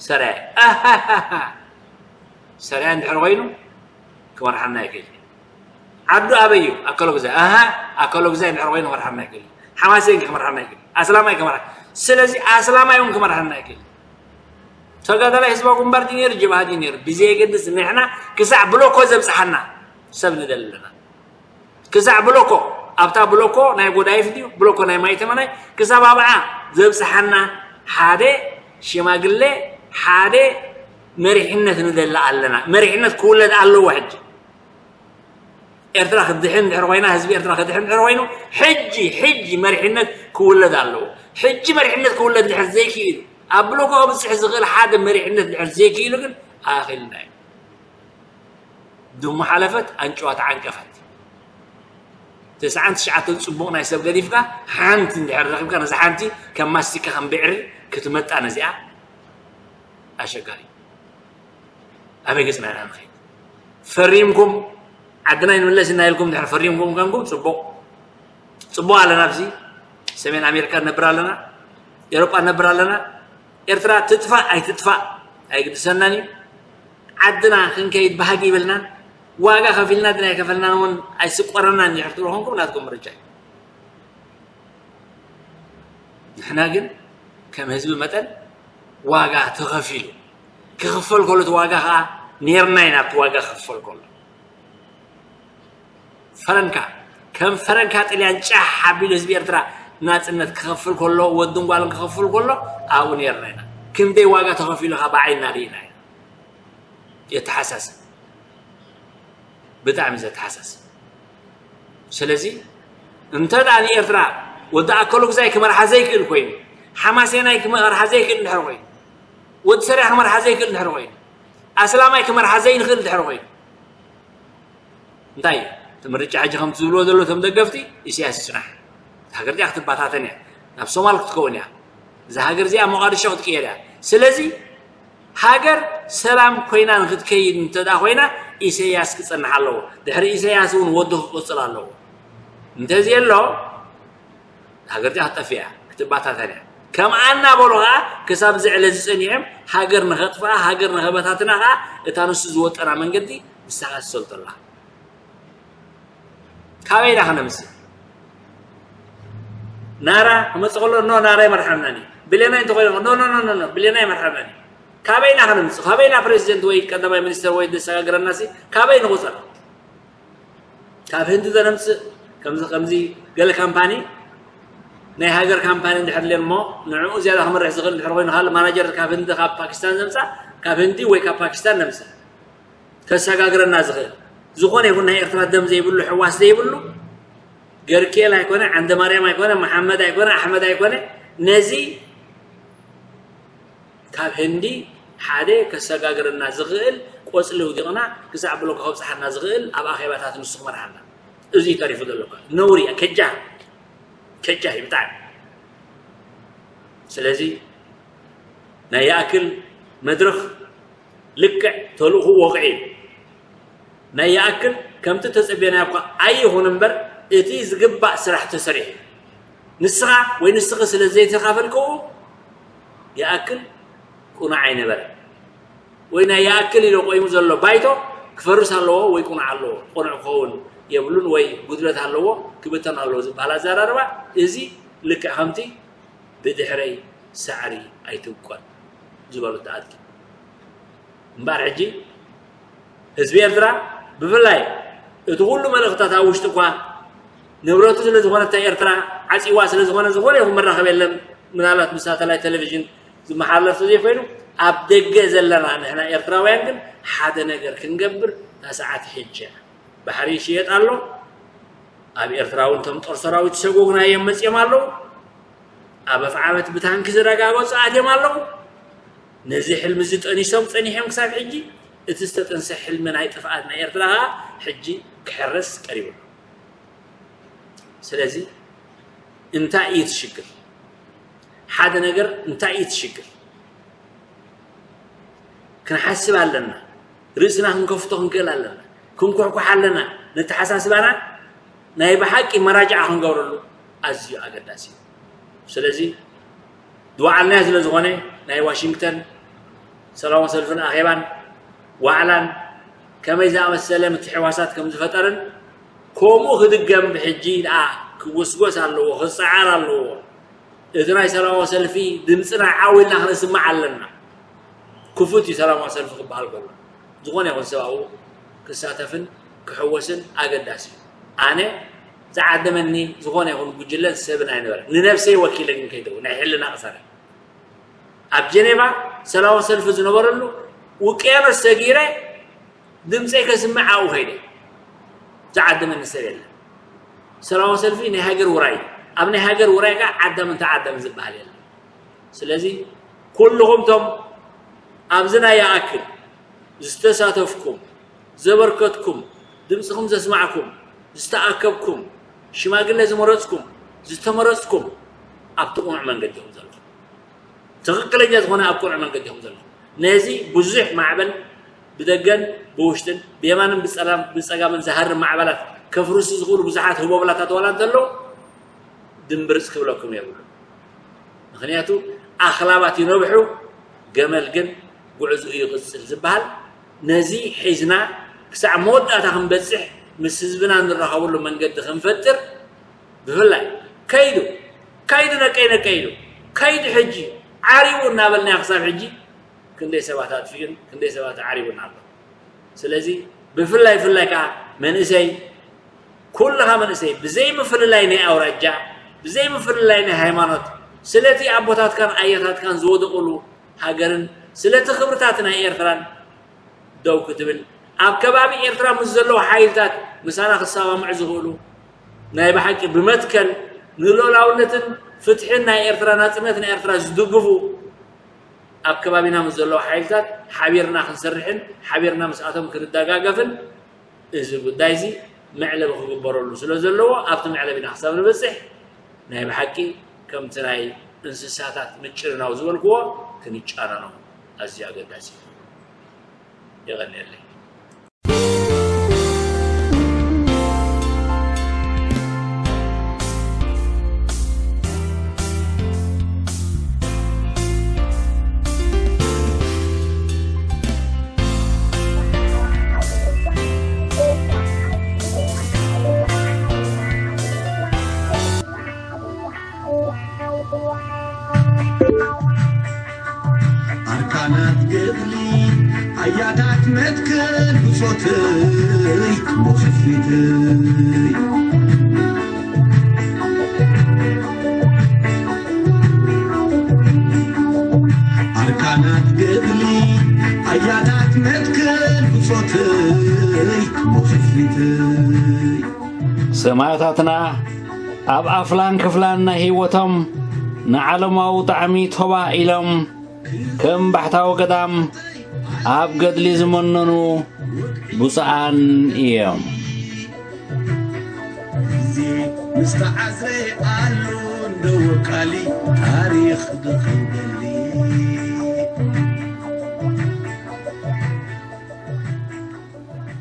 ሰራየ። ኣሃሃሃ። ሰራየ እንድሕር ኮይኑ ክመርሓና ይክእል እዩ። ዓዱ ኣበይ እዩ? ኣከሎ ግዛይ። ኣሃ፣ ኣከሎ ግዛይ እንድሕር ኮይኑ ክመርሓና ይክእል እዩ። ሓማሴን ክመርሓና ይክእል እዩ። ኣስላማይ ክመርሓ-፣ ስለዚ ኣስላማይ እውን ክመርሓና ይክእል እዩ። ተጋዳላይ ህዝባዊ ግንባር ድዩ ነይሩ፣ ጀብሃ ድዩ ነይሩ፣ ብዘየገድስ ንሕና ክሳዕ ብሎኮ ዘብፅሓና ሰብ ንደሊ ኣለና። ክሳዕ ብሎኮ፣ ኣብታ ብሎኮ ናይ ጎዳይፍ ድዩ፣ ብሎኮ ናይ ማይተመናይ፣ ክሳብ ኣብዓ ዘብፅሓና ሓደ ሽማግሌ፣ ሓደ መሪሕነት ንደሊ ኣለና። መሪሕነት ክውለድ ኣለዎ ሕጂ። ኤርትራ ክትድሕን እንድሕር ኮይና፣ ህዝቢ ኤርትራ ክድሕን እንድሕር ኮይኑ፣ ሕጂ፣ ሕጂ መሪሕነት ክውለድ ኣለዎ። ሕጂ መሪሕነት ክውለድ እንድሕር ዘይክኢሉ፣ ኣብ ብሎኮ ከብፅሕ ዝኽእል ሓደ መሪሕነት እንድሕር ዘይክኢሉ ግን ኣኺልና እዩ። ድሙ ሓለፈት፣ ኣንጭዋ ተዓንቀፈት። ተስዓን ትሽዓተን ጽቡቕ ናይ ሰብ ገዲፍካ፣ ሓንቲ እንድሕር ረኺብካ፣ ነዛ ሓንቲ ከም ማስቲካ ከም ብዕሪ ክትመጣ ነዚኣ ኣሸጋሪ። ኣበይ ገጽና ኢና ንኸይድ? ፈሪምኩም ዓድና ይንምለስ ኢና ኢልኩም እንድሕር ፈሪምኩም ኮንኩም ጽቡቕ። ጽቡቕ ኣለና፣ ኣብዚ ሰሜን ኣሜሪካ ንነብር ኣለና፣ ኤውሮጳ ንነብር ኣለና። ኤርትራ ትጥፋእ ኣይትጥፋእ ኣይግድሰናን እዩ። ዓድና ክንከይድ ባህጊ ይብልናን፣ ዋጋ ከፊልና ድና ኣይከፈልናን እውን ኣይስቆረናን እንድሕር ትብሉ ኮንኩም ናትኩም ምርጫ እዩ። ንሕና ግን ከም ህዝቢ መጠን ዋጋ ተኸፊሉ፣ ክኽፈል ከሎ እቲ ዋጋ ኸዓ ኔርና ኢና ኣብቲ ዋጋ ክኽፈል ከሎ። ፈረንካ፣ ከም ፈረንካ ጥልያን ጫሕ ኣቢሉ ህዝቢ ኤርትራ ናጽነት ክኸፍል ከሎ፣ ወድን ጓልን ክኸፍል ከሎ ኣብኡ ኔርና ኢና። ክንደይ ዋጋ ተኸፊሉ ኸዓ ብዓይንና ርኢና ኢና። የተሓሳስብ። ብጣዕሚ ዘተሓሳስብ። ስለዚ እንተ ደኣ ንኤርትራ ወዲ ኣከሉ ግዛይ ክመርሓ ዘይክእል ኮይኑ፣ ሓማሴናይ ክመርሓ ዘይክእል እንድሕር ኮይኑ፣ ወዲ ሰሪያ ክመርሓ ዘይክእል እንድሕር ኮይኑ፣ ኣስላማይ ክመርሓ ዘይንኽእል እንድሕር ኮይኑ፣ እንታይ እዩ እቲ ምርጫ? ሕጂ ከምቲ ዝብልዎ ዘሎ እቶም ደገፍቲ፣ ኢሳያስ ይጽናሕ። እታ ሃገር እዚኣ ክትበታተን እያ። ናብ ሶማል ክትከውን እያ። እዛ ሃገር እዚኣ ሞቓድሾ ክትቅየር እያ። ስለዚ ሃገር ሰላም ኮይና ንክትከይድ እንተ ደኣ ኮይና፣ ኢሳያስ ክጸንሕ ኣለዎ። ድሕሪ ኢሳያስ እውን ወዱ ክቕጽል ኣለዎ። እንተዘየሎ፣ ሃገር እዚኣ ክትጠፍእ እያ፣ ክትበታተን እያ። ከምኣ እናበሉ ኸዓ ክሳብ እዚ ዕለት እዚ ጸኒሖም ሃገር ንኸጥፍኣ፣ ሃገር ንኸበታትና ኸዓ እታ ንሱ ዝወጠና መንገዲ ንሳ ኸዓ ትሰልጦ ኣላ። ካበይ ኢና ኸነምጽእ? ናራ ክመጽእ ከሎ፣ ኖ፣ ናራ ይመርሓናን እዩ። ብሌናይ እንተኾይኑ፣ ኖ፣ ኖ፣ ኖ፣ ኖ፣ ኖ፣ ብሌናይ ይመርሓናን እዩ። ካበይ ኢና ኸነምጽእ? ካበይ ኢና ፕሬዚደንት ወይ ቀዳማይ ሚኒስተር ወይ ዘሰጋግረና ሲ? ካበይ ንቑጸር? ካብ ህንዲ ዘነምጽእ፣ ከምዚ፣ ከምዚ ገለ ካምፓኒ፣ ናይ ሃገር ካምፓኒ እንድሕር ለን እሞ፣ ንዕኡ ዝያዳ ክመርሕ ዝኽእል እንድሕር ኮይኑ፣ ካልእ ማናጀር ካብ ህንዲ፣ ካብ ፓኪስታን ዘምጽኣ፣ ካብ ህንዲ ወይ ካብ ፓኪስታን ነምጽእ። ከሰጋግረና ዝኽእል። ዝኾነ ይኹን ናይ ኤርትራ ደም ዘይብሉ፣ ሕዋስ ዘይብሉ፣ ገርኬል ኣይኮነ፣ ዓንደ ማርያም ኣይኮነ፣ መሓመድ ኣይኮነ፣ ኣሕመድ ኣይኮነ፣ ነዚ ካብ ህንዲ ሓደ ከሰጋግረና ዝኽእል ቆጽሊ ውዲቕና ክሳዕ ብሎኮ ከብጽሓና ዝኽእል ኣብ ኣኼባታት ንሱ ክመርሓና። እዚ እዩ ተሪፉ ዘሎ እኮ። ነውሪ እያ፣ ከጃ፣ ከጃ እዩ ብጣዕሚ። ስለዚ ናይ ይኣክል መድረኽ ልክዕ ተልእኹ ወቕዒ እዩ። ናይ ይኣክል ከምቲ ተጸብየናዮ እኳ ኣይኹን እምበር፣ እቲ ዝግባእ ስራሕ ተሰሪሑ እዩ። ንስኻ ወይ ንስኺ ስለ ዘይተኻፈልክዎ ይኣክል ቅኑዕ ኣይነበረን። ወይ ናይ ይኣክል ኢሉ ቆይሙ ዘሎ ባይቶ ክፈርስ ኣለዎ ወይ ቅኑዕ ኣለዎ፣ ቅኑዕ ክኸውን የብሉን ወይ ጉድለት ኣለዎ ክብተን ኣለዎ ዝበሃል ኣዘራርባ፣ እዚ ልክዕ ከምቲ ብድሕረይ ሳዕሪ ኣይትብቆል ዝበሉ ተኣትኪ እምበኣር፣ ሕጂ ህዝቢ ኤርትራ ብፍላይ እቲ ኩሉ መልእኽታት ኣብ ውሽጢ እኳ ንብረቱ ስለ ዝኾነ፣ እታ ኤርትራ ዓፂዋ ስለ ዝኾነ፣ ዝኾነ ይኹን መራኸቢ የለን። ምናልባት ብሳተላይት ቴሌቪዥን ዝመሓላለፍ ዘይኮይኑ፣ ኣብ ደገ ዘለና ንሕና ኤርትራውያን ግን ሓደ ነገር ክንገብር፣ እታ ሰዓት ሕጂ እያ። ባሕሪ ይሽየጥ ኣሎ። ኣብ ኤርትራ እውን እቶም ጦር ሰራዊት ዝሰጎጉና እዮም መፅዮም ኣለዉ። ኣብ ኣፍዓበት ብታንኪ ዝረጋገፁ ኣትዮም ኣለዉ። ነዚ ሕልሚ እዚ ጠኒሶም ፀኒሖም ክሳብ ሕጂ፣ እቲ ዝተጠንሰ ሕልሚ ናይ ጥፍኣት ናይ ኤርትራ ከዓ ሕጂ ክሕረስ ቀሪቡ ኣሎ። ስለዚ እንታይ እዩ እቲ ሽግር? ሓደ ነገር እንታይ እዩ እቲ ሽግር? ክንሓስብ ኣለና። ርእስና ክንከፍቶ ክንክእል ኣለና። ክንኩሕኩሕ ኣለና። ነተሓሳስባና ናይ ብሓቂ መራጃዓ ክንገብረሉ ኣዝዩ ኣገዳሲ እዩ። ስለዚ ዝወዓልናዮ ስለ ዝኾነ ናይ ዋሽንግተን ሰላማዊ ሰልፍን ኣኼባን ዋዕላን ከመይ ዝኣመሰለ ምትሕዋሳት ከም ዝፈጠርን ከምኡ ክድገም ብሕጂ ደኣ ክጎስጎስ ኣለዎ፣ ክጸዓር ኣለዎ። እቲ ናይ ሰላማዊ ሰልፊ ድምፅና ዓው ኢልና ክነስምዕ ኣለና። ክፉት እዩ ሰላማዊ ሰልፊ ክበሃል ከሎ። ዝኾነ ይኹን ሰብ ኣብኡ ክሳተፍን ክሕወስን ኣገዳሲ እዩ። ኣነ ዝዓደመኒ ዝኾነ ይኹን ጉጅለን ሰብን ኣይነበረን። ንነብሰይ ወኪለ ግን ከይደው ናይ ሕልና ቅሳነ ኣብ ጀኔቫ ሰላማዊ ሰልፊ ዝነበረሉ ውቅያኖስ ሰጊረ ድምፀይ ከስምዕ ኣብኡ ከይደ ዝዓደመኒ ሰብ የለን። ሰላማዊ ሰልፊ ናይ ሃገር ውራይ እዩ። ኣብ ናይ ሃገር ውራይ ከዓ ዓዳምን ተዓዳምን ዝበሃል የለን። ስለዚ ኩልኹም ቶም ኣብዚ ናይ ይኣክል ዝተሳተፍኩም፣ ዘበርከትኩም፣ ድምፅኹም ዘስማዕኩም፣ ዝተኣከብኩም፣ ሽማግለ ዝመረፅኩም፣ ዝተመረፅኩም ኣብቲ ቅኑዕ መንገዲ ኢኹም ዘለኹም። ትኽክለኛ ዝኾነ ኣብ ቅኑዕ መንገዲ ኢኹም ዘለኹም። ነዚ ብዙሕ ማዕበል ብደገን ብውሽጥን ብየማንን ብጸላም- ብጸጋምን ዝሃርም ማዕበላት ከፍርሱ ዝኽእሉ ብዙሓት ህቦብላታት ዋላ እንተለዉ ድምብርጽ ክብለኩም የብሉ። ምኽንያቱ ኣኽላባት ይነብሑ፣ ገመል ግን ጉዕዝኡ ይቕጽል ዝበሃል ነዚ ሒዝና ክሳዕ መወዳእታ ክንበጽሕ ምስ ህዝብና እንራኸበሉ መንገዲ ክንፈጥር ብፍላይ ከይዱ ከይዱ ነቀይ ነቀይ ኢሉ ከይዱ ሕጂ ዓሪቡ እናበልናዮ ክሳብ ሕጂ ክንደይ ሰባት ኣጥፊኡን ክንደይ ሰባት ዓሪቡን ኣሎ። ስለዚ ብፍላይ ፍላይ ከዓ መንእሰይ ኩልኻ መንእሰይ ብዘይ ምፍልላይ ናይ ኣውራጃ ብዘይ ምፍልላይ ናይ ሃይማኖት ስለቲ ኣቦታትካን ኣያታትካን ዝወደቑሉ ሃገርን ስለቲ ክብርታት ናይ ኤርትራን ደው ክትብል ኣብ ከባቢ ኤርትራ ምስ ዘለዉ ሓይልታት ምሳና ክሰማምዑ ዝኽእሉ ናይ ብሓቂ ብመትከል ንልኡላውነትን ፍትሕን ናይ ኤርትራ ናጽነት ናይ ኤርትራ ዝድግፉ ኣብ ከባቢና ምስ ዘለዉ ሓይልታት ሓቢርና ክንሰርሕን ሓቢርና ምስኣቶም ክንደጋገፍን እዚ ጉዳይ እዚ መዕለቢ ክግበረሉ ስለ ዘለዎ ኣብቲ መዕለቢና ክሳብ ንበፅሕ ናይ ብሓቂ ከምቲ ናይ እንስሳታት ምጭንናው ዝበልክዎ ክንጫነኖ ኣዝዩ ኣገዳሲ እዩ። የቐንየለይ። ኣርካናት ገድሊ ኣያታት መትከል ብጾተይ ክሞት ፊተይ ኣርካናት ገድሊ ኣያታት መትከል ብጾተይ ክሞት ፊተይ ሰማእታትና ኣብ ኣፍላን ክፍላን ናይ ህይወቶም ንዓለማዊ ጣዕሚ ቶባ ኢሎም ከም ባሕታዊ ገዳም ኣብ ገድሊ ዝመነኑ ብፁዓን እዮም። ግዜ ምስ ተዓዝረ ኣሎ እንደወቃሊ ታሪኽ ድኽንደሊ